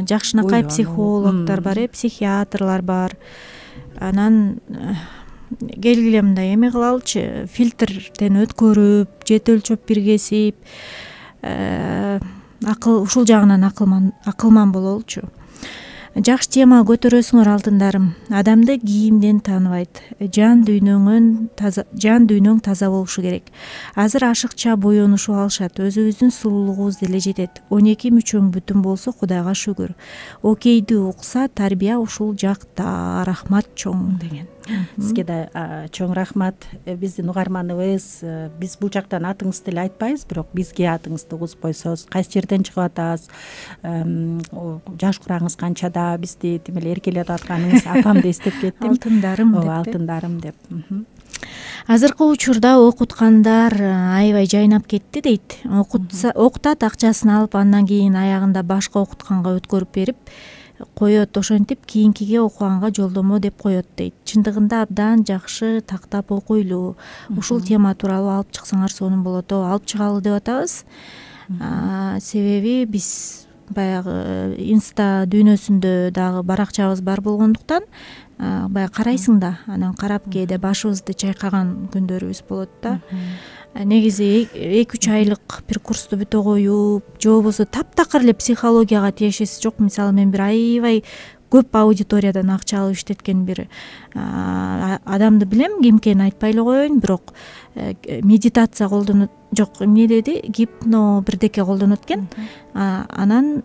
Жакшынакай психологдор бар, психиатрлар бар. Анан келгиле мындай эме кылалычы, фильтрден өткөрүп, жет өлчөп бир кесип, ушул жагынан акылман бололучу. Жакшы тема көтөрөсүңөр алтындарым. Адамды кийимден тааныбайт. Жан дүйнөң таза болушу керек. Азыр ашыкча боенушуп алышат. Өзүбүздүн сулуулугубуз деле жетет. 12 мүчөң бүтүн болсо Кудайга шүгүр. Окейди укса тарбия ушул жакта. Рахмат чоң деген. Сизге да чоң рахмат. Биздин угарманыбыз, биз бул жактан атыңызды эле айтпайбыз, бирок бизге атыңызды угузуп койсоңуз, кайсы жерден чыгып атабыз, жаш кураңыз канчада, бизди тим эле эркелетип атканыңыз апамды эстеп кеттим. Алтындарым деп. Алтындарым деп. Азыркы учурда окуткандар аябай жайнап кетти дейт. Окутат, акчасын алып, андан кийин аягында башка окутканга өткөрүп берип коет, ошентип кийинкиге окуганга жолдомо деп коет дейт. Чындыгында абдан жакшы тактап окуйлуу. Ушул тема тууралуу алып чыксаңар сонун болот. Алып чыгалы деп атабыз. Себеби биз баягы инста дүйнөсүндө дагы баракчабыз бар болгондуктан баягы карайсың да, анан карап кээде башыбызды чайкаган күндөрүбүз болот да. Негизи 2-3 айлык бир курсту бүтө коюп, же болбосо таптакыр эле психологияга тиешеси жок. Мисалы мен бир аябай көп аудиториядан акча алып иштеткен бир адамды билем, ким экенин айтпай эле коеюн, бирок медитация колдонот, жок, эмне деди, гипно бирдеке колдонот экен. Анан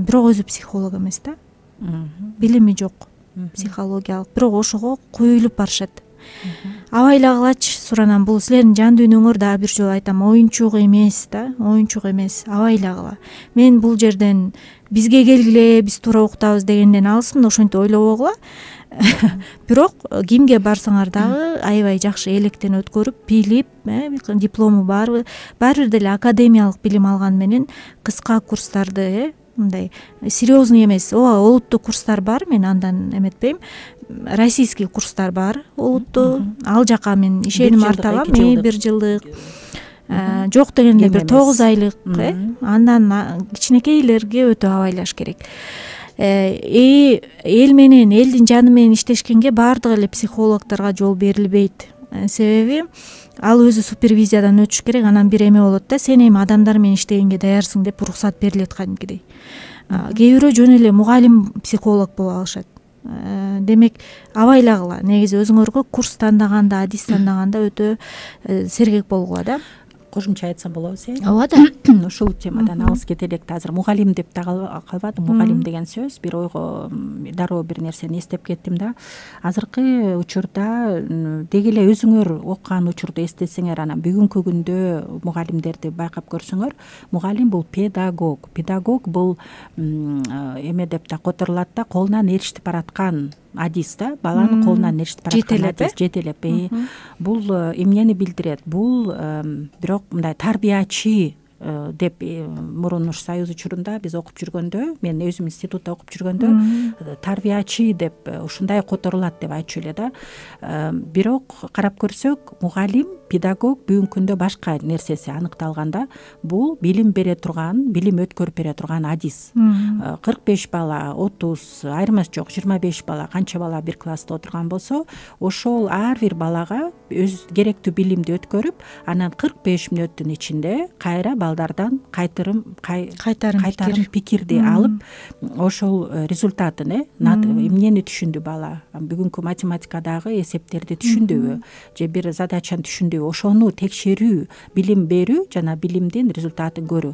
бирок өзү психолог эмес да. Билими жок психологиялык, бирок ошого куюлуп барышат. Абайлагылачы суранам, бул силердин жан дүйнөңөр, дагы бир жолу айтам, оюнчук эмес да, оюнчук эмес, абайлагыла. Мен бул жерден бизге келгиле, биз туура уктабыз дегенден алысмын, ошентип ойлобогула. Бирок кимге барсаңар дагы аябай жакшы электен өткөрүп, билип, диплому барбы, баары бир деле академиялык билим алган менен кыска курстарды, мындай серьезный эмес, олуттуу курстар бар, мен андан эметпейм. Российский курстар бар, олуттуу. Ал жака мен ишеним артабам, 1 жылдык. Жок дегенде бир 9 айлык, андан кичинекейлерге өтө абайлаш керек. Эл менен, элдин жаны менен иштешкенге баардык эле психологдорго жол берилбейт. Себеби ал өзү супервизиядан өтүш керек, анан бир эме болот да, сен эми адамдар менен иштегенге даярсың деп уруксат берилет кадимкидей. Кээ бирөө жөн эле мугалим психолог болуп алышат. демек абайлагыла, негизи өзүңөргө курс тандаганда, адис тандаганда өтө сергек болгула да. Кошумча айтсам болобу сен? Ооба да. Ушул темадан алыс кете элек да. Азыр мугалим деп да калбадым. Мугалим деген сөз бир ойго дароо бир нерсени эстеп кеттим да. Азыркы учурда деги эле өзүңөр окуган учурду эстесеңер, анан бүгүнкү күндө мугалимдерди байкап көрсөңөр, мугалим бул педагог. Педагог бул эме деп да которулат да, колунан ээрчитип бараткан адис да, баланын колунан ээрчитип бараткан адис, жетелеп. Бул эмнени билдирет? Бул бирок мындай тарбиячы деп мурун Союз учурунда биз окуп жүргөндө, мен өзүм институтта окуп жүргөндө тарбиячы деп ушундай которулат деп айтчу эле да. Бирок карап көрсөк, мугалим, педагог бүгүнкү күндө башка нерсеси аныкталганда, бул билим бере турган, билим өткөрүп бере турган адис. 45 бала, 30, айырмасы жок, 25 бала, канча бала бир класста отурган болсо, ошол ар бир балага өз керектүү билимди өткөрүп, анан 45 мүнөттүн ичинде кайра балдардан кайтарым пикирди алып, ошол результатын, эмнени түшүндү бала, бүгүнкү математикадагы эсептерди түшүндүбү, же бир задачаны түшүндүбү, ошону текшерүү, билим берүү жана билимдин результатын көрүү.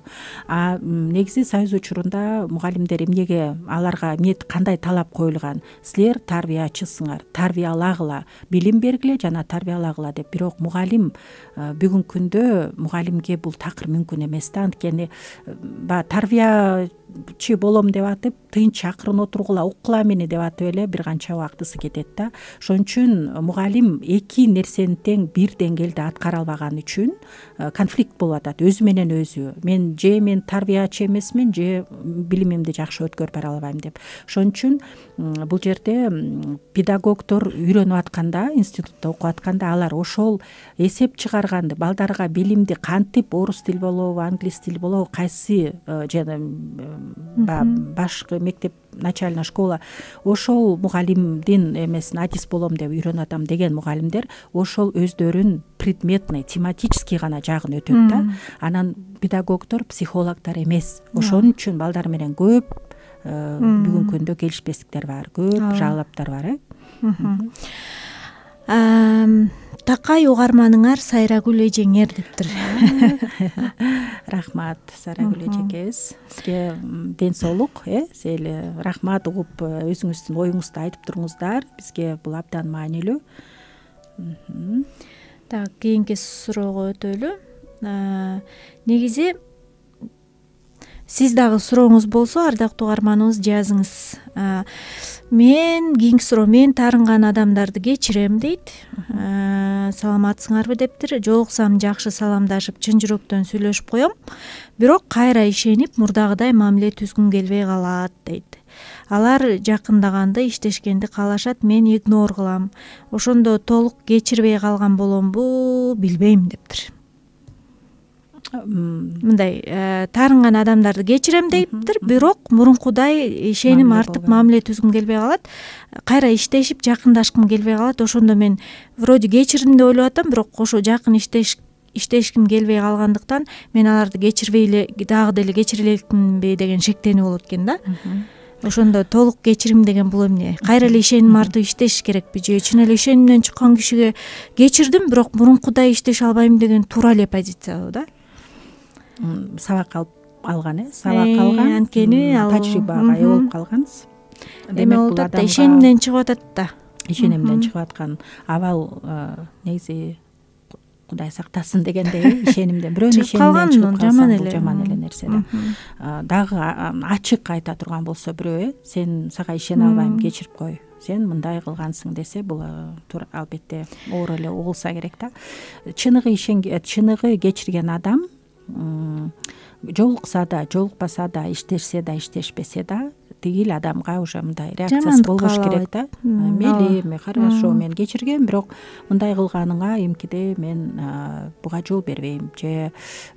Негизи Союз учурунда мугалимдер эмнеге, аларга кандай талап коюлган? Силер тарбиячысыңар, тарбиялагыла, билим бергиле жана тарбиялагыла деп. Бирок мугалим бүгүнкү күндө мугалимге бул такыр мүмкүн эмес да. Анткени тарбиячы болом деп атып, тынч акырын отургула, уккула мени деп атып эле бир канча убактысы кетет да. Ошон үчүн мугалим эки нерсени тең бир деңгээлде аткара албаган үчүн конфликт болуп атат өзү менен өзү. Мен тарбиячы эмесмин, же билимимди жакшы өткөрүп бара албайм деп. Ошон үчүн бул жерде педагогдор үйрөнүп атканда, институтта окуп атканда, алар ошол эсеп чыгарганды, балдарга билимди кантип, орус тил болобу, англис тил болобу, кайсы жана башкы мектеп, начальная школа, ошол мугалимдин эмесин адис болом деп үйрөнүп атам деген мугалимдер ошол өздөрүн предметный, тематический гана жагын өтөт да. Анан педагогдор психологдор эмес. Ошон үчүн балдар менен көп бүгүнкү күндө келишпестиктер бар, көп жалаптар бар. Такай угарманыңар Сайрагүл эжеңер дептир. Рахмат Сайрагүл эжекебиз. Сизге ден соолук, сизге рахмат, угуп өзүңүздүн оюңузду айтып туруңуздар. Бизге бул абдан маанилүү. Так, кийинки суроого өтөлү. Негизи сиз дагы сурооңуз болсо, ардактуу угарманыбыз, жазыңыз. Мен кийинки суроо, мен таарынган адамдарды кечирем дейт. Саламатсыңарбы дептир. Жолуксам жакшы саламдашып, чын жүрөктөн сүйлөшүп коем. Бирок кайра ишенип, мурдагыдай мамиле түзгүм келбей калат дейт. Алар жакындаганды, иштешкенди каалашат, мен игнор кылам. Ошондо толук кечирбей калган боломбу, билбейм дептир. Мындай таарынган адамдарды кечирем дейптир, бирок мурункудай ишеним артып, мамиле түзгүм келбей калат. Кайра иштешип, жакындашкым келбей калат. Ошондо мен вроде кечирдим деп ойлоп атам, бирок ошо жакын иштешким келбей калгандыктан мен аларды кечирбей эле, дагы деле кечире элекминби деген шектенүү болот экен да. Ошондо толук кечирим деген бул эмне? Кайра эле ишеним артып иштеш керекпи? Же чын эле ишенимден чыккан кишиге кечирдим, бирок мурункудай иштеше албайм деген туура эле позициябы да? Сабак алган, сабак алган, анткени тажрыйбага ээ болуп калганбыз. Эме болуп атат да, ишенимден чыгып атат да. Ишенимден чыгып аткан абал негизи Кудай сактасын дегендей, ишенимден, бирөөнүн ишенимден чыгып калсаң, бул жаман эле нерсе да. Дагы ачык айта турган болсо бирөө, сен сага ишене албайм, кечирип кой, сен мындай кылгансың десе, бул албетте оор эле угулса керек да. Чыныгы кечирген адам жолукса да, жолукпаса да, иштешсе да, иштешпесе да, тигил адамга уже мындай реакциясы болбош керек да. Мейли, хорошо, мен кечиргем, бирок мындай кылганыңа эмкиде мен буга жол бербейм, же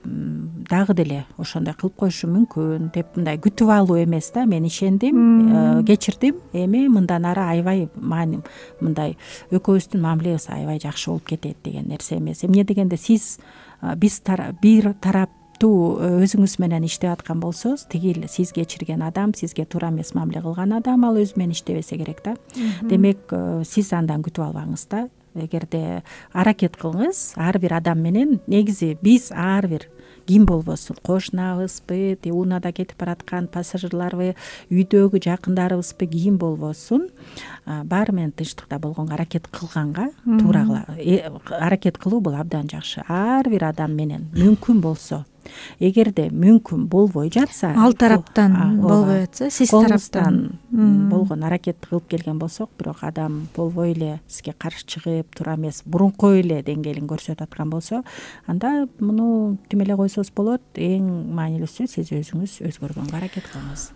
дагы деле ошондой кылып коюшум мүмкүн деп мындай күтүп алуу эмес да. Мен ишендим, кечирдим, эми мындан ары аябай мындай экөөбүздүн мамилебиз аябай жакшы болуп кетет деген нерсе эмес. Эмне дегенде биз бир тарап катуу өзүңүз менен иштеп аткан болсоңуз, тиги сиз кечирген адам, сизге туура эмес мамиле кылган адам ал өзү менен иштебесе керек да. Демек сиз андан күтүп албаңыз да. Эгерде аракет кылыңыз, ар бир адам менен негизи биз ар бир ким болбосун, кошунабызбы, унаада кетип бараткан пассажирларбы, үйдөгү жакындарыбызбы, ким болбосун, баары менен тынчтыкта болгонго аракет кылганга туура аракет кылуу бул абдан жакшы. Ар бир адам менен мүмкүн болсо, эгерде мүмкүн болбой жатса, ал тараптан болбой жатса, сиз тараптан болгон аракетти кылып келген болсок, бирок адам болбой эле сизге каршы чыгып, туура эмес мурунку эле деңгээлин көрсөтүп аткан болсо, анда муну түм эле койсоңуз болот. Эң маанилүүсү сиз өзүңүз өзгөргөнгө аракет кылыңыз.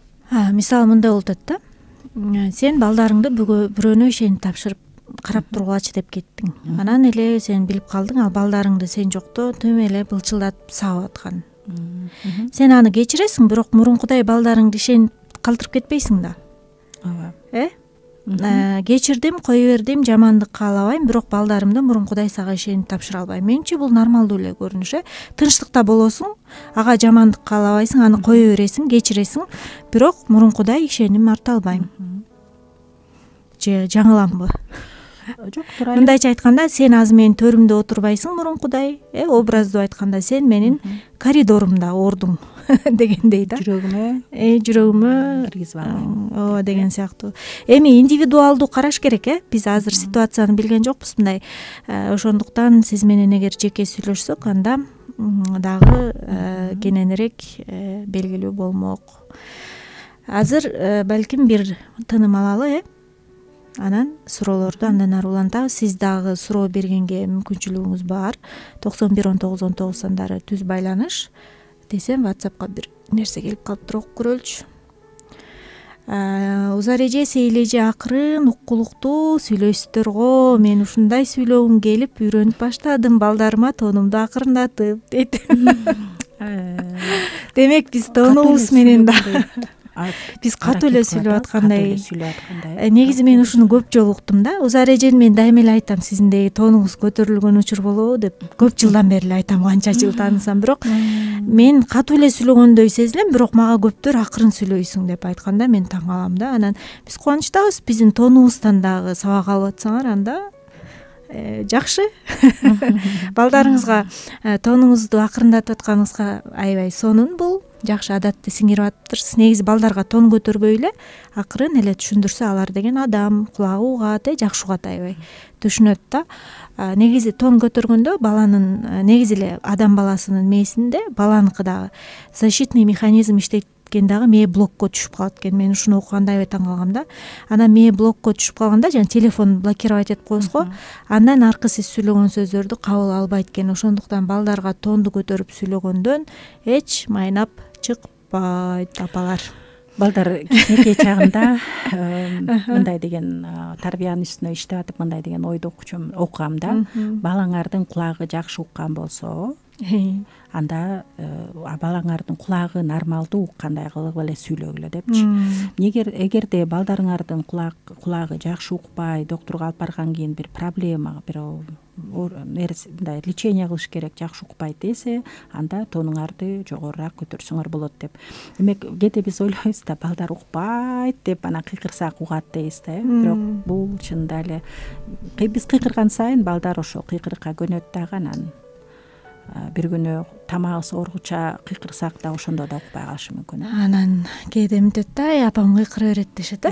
Мисалы мындай болуп атат да. Сен балдарыңды бирөөнө ишенип тапшырып карап тургулачы деп кеттиң. Анан эле сен билип калдың, ал балдарыңды сен жокто түм эле былчылдатып сабап аткан. Сен аны кечиресиң, бирок мурункудай балдарыңды ишенип калтырып кетпейсиң да. Ооба. Кечирдим, кое бердим, жамандык каалабайм, бирок балдарымды мурункудай сага ишенип тапшыра албайм. Менчи бул нормалдуу эле көрүнүш. Тынчтыкта болосуң, ага жамандык каалабайсың, аны кое бересиң, кечиресиң, бирок мурункудай ишеним арта албайм. Же жаңыламбы? Жок, туура. Мындайча айтканда, сен азыр менин төрүмдө отурбайсың мурункудай, образдуу айтканда сен менин коридорумда ордуң дегендей да. Жүрөгүмө киргизип албайм. Ооба деген сыяктуу. Эми индивидуалдуу караш керек, Биз азыр ситуацияны билген жокпуз мындай. Ошондуктан сиз менен эгер жеке сүйлөшсөк, анда дагы кененирээк белгилүү болмок. Азыр балким бир тыным алалы, Анан суроолорду андан ары улантабыз. Сиз дагы суроо бергенге мүмкүнчүлүгүңүз бар. 911919 сандары түз байланыш десем, WhatsAppка бир нерсе келип калыптыр, окуп көрөлүчү. Узареже сейлеже акырын уккулуктуу сүйлөйсүздөр го. Мен ушундай сүйлөгүм келип үйрөнүп баштадым балдарыма тонумду акырындатып дейт. Демек биз тонубуз менен да биз катуу эле сүйлөп аткандай. Негизи мен ушуну көп жолу уктум да. Узарежени мен дайыма эле айтам, сиздин тонуңуз көтөрүлгөн учур болобу деп. Көп жылдан бери эле айтам, канча жыл таанысам, бирок мен катуу эле сүйлөгөндөй сезилем, бирок мага көптөр акырын сүйлөйсүң деп айтканда мен таң калам да. Анан биз кубанычтабыз, биздин тонубуздан дагы сабак алып атсаңар, анда жакшы. Балдарыңызга тонуңузду акырындатып атканыңызга аябай сонун. Бул жакшы адатты сиңирип атыптырсыз. Негизи балдарга тон көтөрбөй эле акырын эле түшүндүрсө, алар деген адам кулагы угат, жакшы угат, аябай түшүнөт да. Негизи тон көтөргөндө баланын негизи эле адам баласынын мээсинде баланыкы дагы защитный механизм иштейт дагы, мээ блокко түшүп калат экен. Мен ушуну окуганда аябай таң калгам да. Анан мээ блокко түшүп калганда, жана телефон блокировать этип коебуз го, андан аркы сиз сүйлөгөн сөздөрдү кабыл албайт экен. Ошондуктан балдарга тонду көтөрүп сүйлөгөндөн эч майнап чыкпайт, апалар. Балдар кичинекей чагында мындай деген тарбиянын үстүнө иштеп атып, мындай деген ойду окугам да. Балаңардын кулагы жакшы уккан болсо, анда балаңардын кулагы нормалдуу уккандай кылып эле сүйлөгүлө депчи. Эгерде балдарыңардын кулагы жакшы укпай, доктурга алып баргандан кийин бир проблема, бир мындай лечение кылыш керек, жакшы укпайт десе, анда тонуңарды жогорураак көтөрсөңөр болот деп. Демек, кээде биз ойлойбуз да, балдар укпайт деп анан кыйкырсак угат дейбиз да, бирок бул чынында эле биз кыйкырган сайын балдар ошо кыйкырыкка көнөт дагы. Анан бир күнү тамагыбыз ооргуча кыйкырсак да ошондо да укпай калышы мүмкүн. Анан кээде мынтет да, апам кыйкыра берет дешет,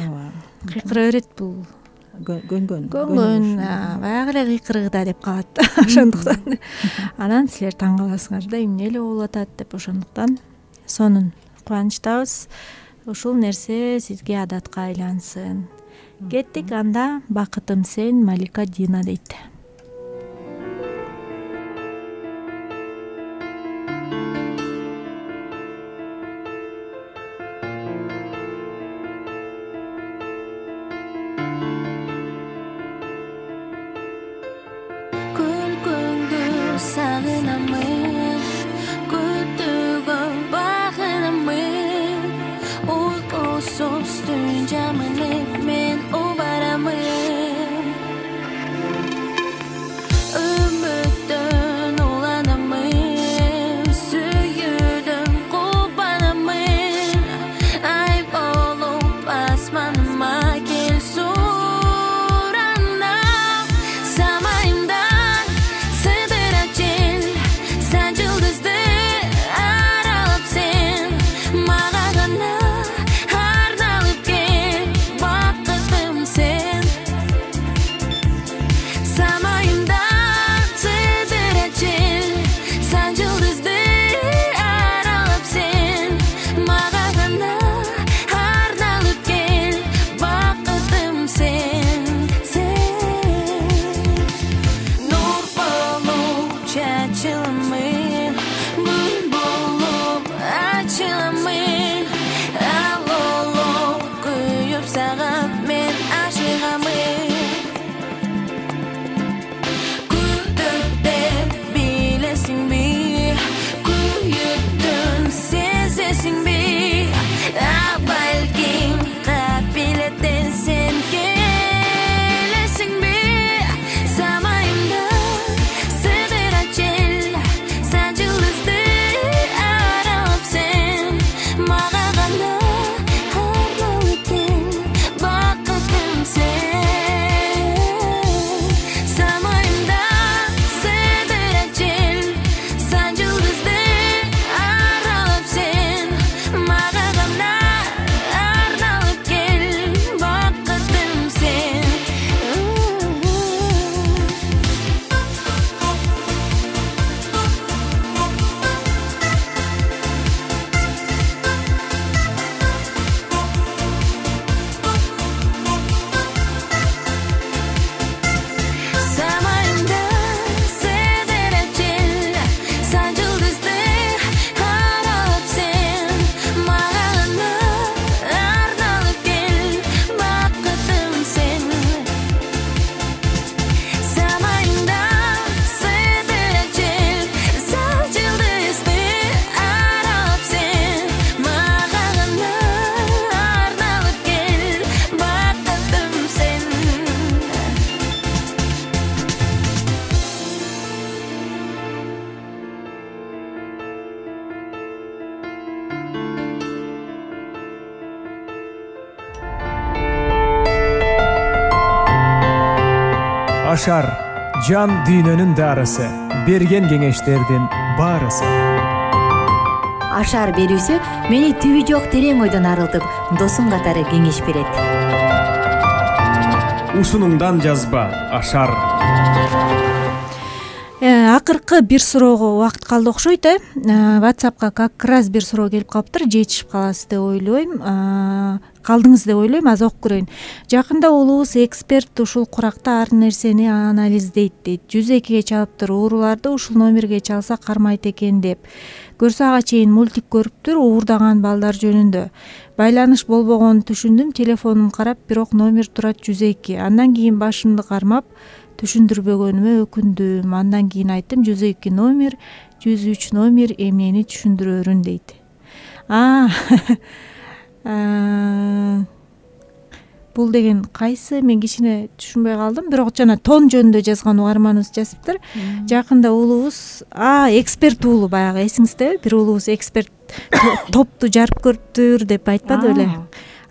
кыйкыра берет, бул көнгөн баягы эле кыйкырыгыда деп калат. Ошондуктан анан силер таң каласыңар да, эмне эле болуп атат деп. Ошондуктан сонун кубанычтабыз. Ушул нерсе сизге адатка айлансын. Кеттик анда. Бакытым сен, Малика Дина дейт. Үмүттөн уланамын, сүйүү самайымда сыдыра жел сан жылдызды аралап сен мага гана арналып кел бакытым сен нур болуп чачыламын күн болуп ачыламын алолуп күйүп сага мен ашыгамын күтүп билесиңби күйүктүн сезесиңби балким капилеттен сен келесиңби самайымда сыдыра жел сан жылдызды аралап сен мага гана арналып кел бакытым сен самайымда сыдыра жел сан жылдызды аралап сен мага гана арналып кел бакытым сен самайымда сыдыра жел сан жылдызды аралап сен мага гана арналып кел бакытым сен самайымда сыдыра жел сан жылдызды аралап сен мага гана арналып кел бакытым сен Ашар жан дүйнөнүн дарысы, берген кеңештердин баарысы. Ашар берүүсү мени түбү жок терең ойдон арылтып, досум катары кеңеш берет. Ушунуңдан жазба, Ашар. Акыркы бир суроого убакыт калды окшойт. WhatsApp'ка как раз бир суроо келип калыптыр. Жетишип каласыз деп ойлойм. Калдыңыз деп ойлойм. Аз окуп көрөйүн. Жакында улуубуз эксперт ушул куракта ар нерсени анализдейт дейт. 102-ге чалыптыр. Ууруларды ушул номерге чалса кармайт экен деп. Көрсө ага чейин мультик көрүптүр уурдаган балдар жөнүндө. Байланыш болбогонун түшүндүм. Телефонун карап, бирок номер турат 102. Андан кийин башымды кармап түшүндүрбөгөнүмө өкүндүм. Андан кийин айттым 102 номер, 103 номер эмнени түшүндүрөрүн дейт. Бул деген кайсы? Мен кичине түшүнбөй калдым. Бирок жана тон жөнүндө жазган угарманыбыз жазыптыр. Жакында улуубуз эксперт уулу баягы эсиңиздеби? Бир улуубуз эксперт топту жарып көрүптүр деп айтпады беле?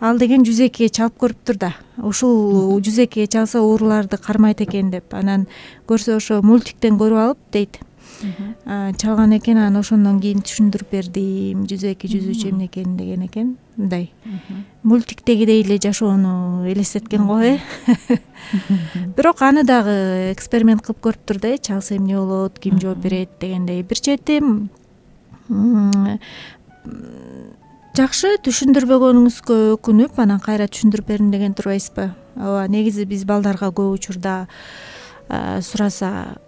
Ал деген 102-ге чалып көрүптүр да. Ушул 102-ге чалса ууруларды кармайт экен деп. Анан көрсө ошо мультиктен көрүп алып дейт. Чалган экен, анан ошондон кийин түшүндүрүп бердим. 102, 103 эмне экенин деген экен. Мындай. Мультиктегидей эле жашоону элестеткен го, Бирок аны дагы эксперимент кылып көрүптүр да, чалса эмне болот, ким жооп берет дегендей. Бир чети жакшы түшүндүрбөгөнүңүзгө өкүнүп, анан кайра түшүндүрүп бердим деген турбайсызбы? Ооба, негизи биз балдарга көп учурда сураса,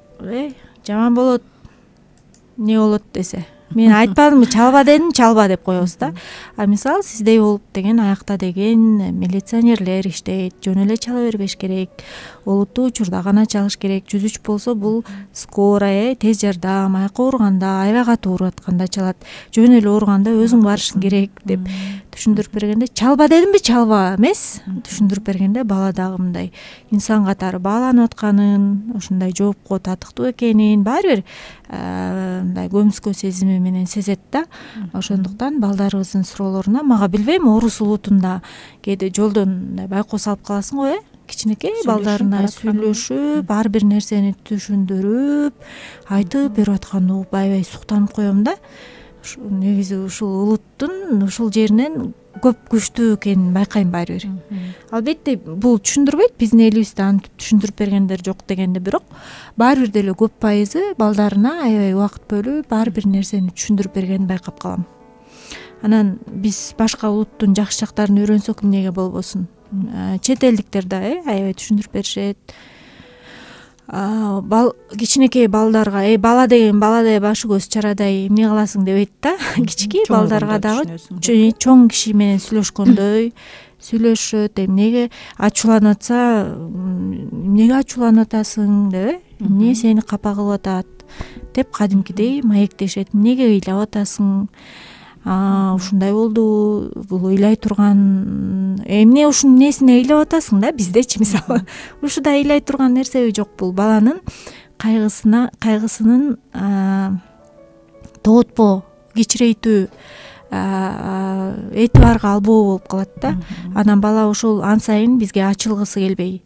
жаман болот, эмне болот десе, мен айтпадымбы, чалба дедим, чалба деп коебуз да. А мисалы сиздей болуп деген аякта деген милиционерлер иштейт, жөн эле чала бербеш керек, олуттуу учурда гана чалыш керек. 103 болсо бул скорая, тез жардам, аякка ооруганда, аябай катуу ооруп атканда чалат. Жөн эле ооруганда өзүң барышың керек деп түшүндүрүп бергенде, чалба дедимби, чалба эмес, түшүндүрүп бергенде бала дагы мындай инсан катары бааланып атканын, ушундай жоопко татыктуу экенин баары бир мындай көмүскө сезими менен сезет да. Ошондуктан балдарыбыздын суроолоруна мага билбейм, орус улутунда кээде жолдон байкоо салып каласың го, кичинекей балдарына сүйлөшүп, ар бир нерсени түшүндүрүп, айтып берип атканды угуп аябай суктанып коем да. Негизи ушул улуттун ушул жеринен көп күчтүү экенин байкайм баары бир. Албетте бул түшүндүрбөйт, биздин элибизде антип түшүндүрүп бергендер жок дегенде, бирок баары бир деле көп пайызы балдарына аябай убакыт бөлүп ар бир нерсени түшүндүрүп бергенин байкап калам. Анан биз башка улуттун жакшы жактарын үйрөнсөк эмнеге болбосун. Чет элдиктер да аябай түшүндүрүп беришет. Кичинекей балдарга бала деген баладай башы көз чарадай эмне кыласың дебейт да. Кичинекей балдарга дагы чоң киши менен сүйлөшкөндөй сүйлөшөт. Эмнеге ачууланып атса, эмнеге ачууланып атасың деп, эмне сени капа кылып атат деп кадимкидей маектешет. Эмнеге ыйлап атасың? Ушундай болду, бул ыйлай турган эмне, ушунун несине ыйлап атасың да, биздечи мисалы. Ушуда ыйлай турган нерсеби жок, бул баланын кайгысынын тоотпоо, кичирейтүү, этибарга албоо болуп калат да. Анан бала ошол ан сайын бизге ачылгысы келбей,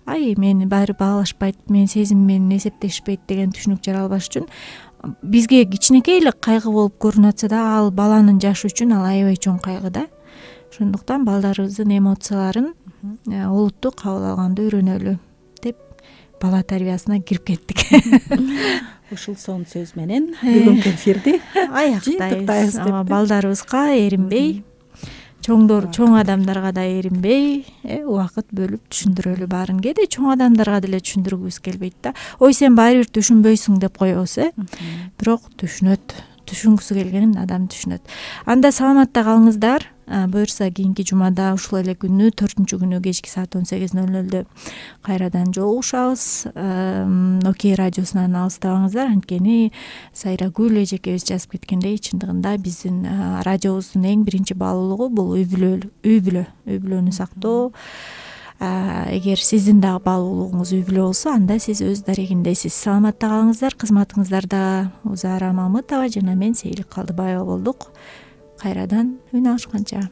мени баары баалашпайт, менин сезимим менен эсептешпейт деген түшүнүк жаралбаш үчүн бизге кичинекей эле кайгы болуп көрүнүп атса да, ал баланын жашы үчүн ал аябай чоң кайгы да. Ошондуктан балдарыбыздын эмоцияларын олуттуу кабыл алганды үйрөнөлү деп бала тарбиясына кирип кеттик. Ушул сонун сөз менен бүгүнкү эфирди аяктайбыз. Балдарыбызга эринбей, чоң адамдарга да эринбей, убакыт бөлүп түшүндүрөлү баарын. Кээде чоң адамдарга деле түшүндүргүбүз келбейт да. Ой, сен баары бир түшүнбөйсүң деп коебуз, бирок түшүнөт. Түшүнгүсү келгенин адам түшүнөт. Анда саламатта калыңыздар. Буюрса кийинки жумада ушул эле күнү 4-күнү кечки саат 18:00 кайрадан жолугушабыз. Окей радиосунан алыстабаңыздар, анткени Сайрагүл эжекебиз жазып кеткендей, чындыгында биздин радиобуздун эң биринчи баалуулугу бул үй бүлөнү сактоо. Эгер сиздин дагы баалуулугуңуз үй бүлө болсо, анда сиз өз дарегиндесиз. Саламатта калыңыздар. Кызматыңыздарда Узара Мамытова жана мен Сейилик Калдыбаева болдук. Кайрадан үн алышканча.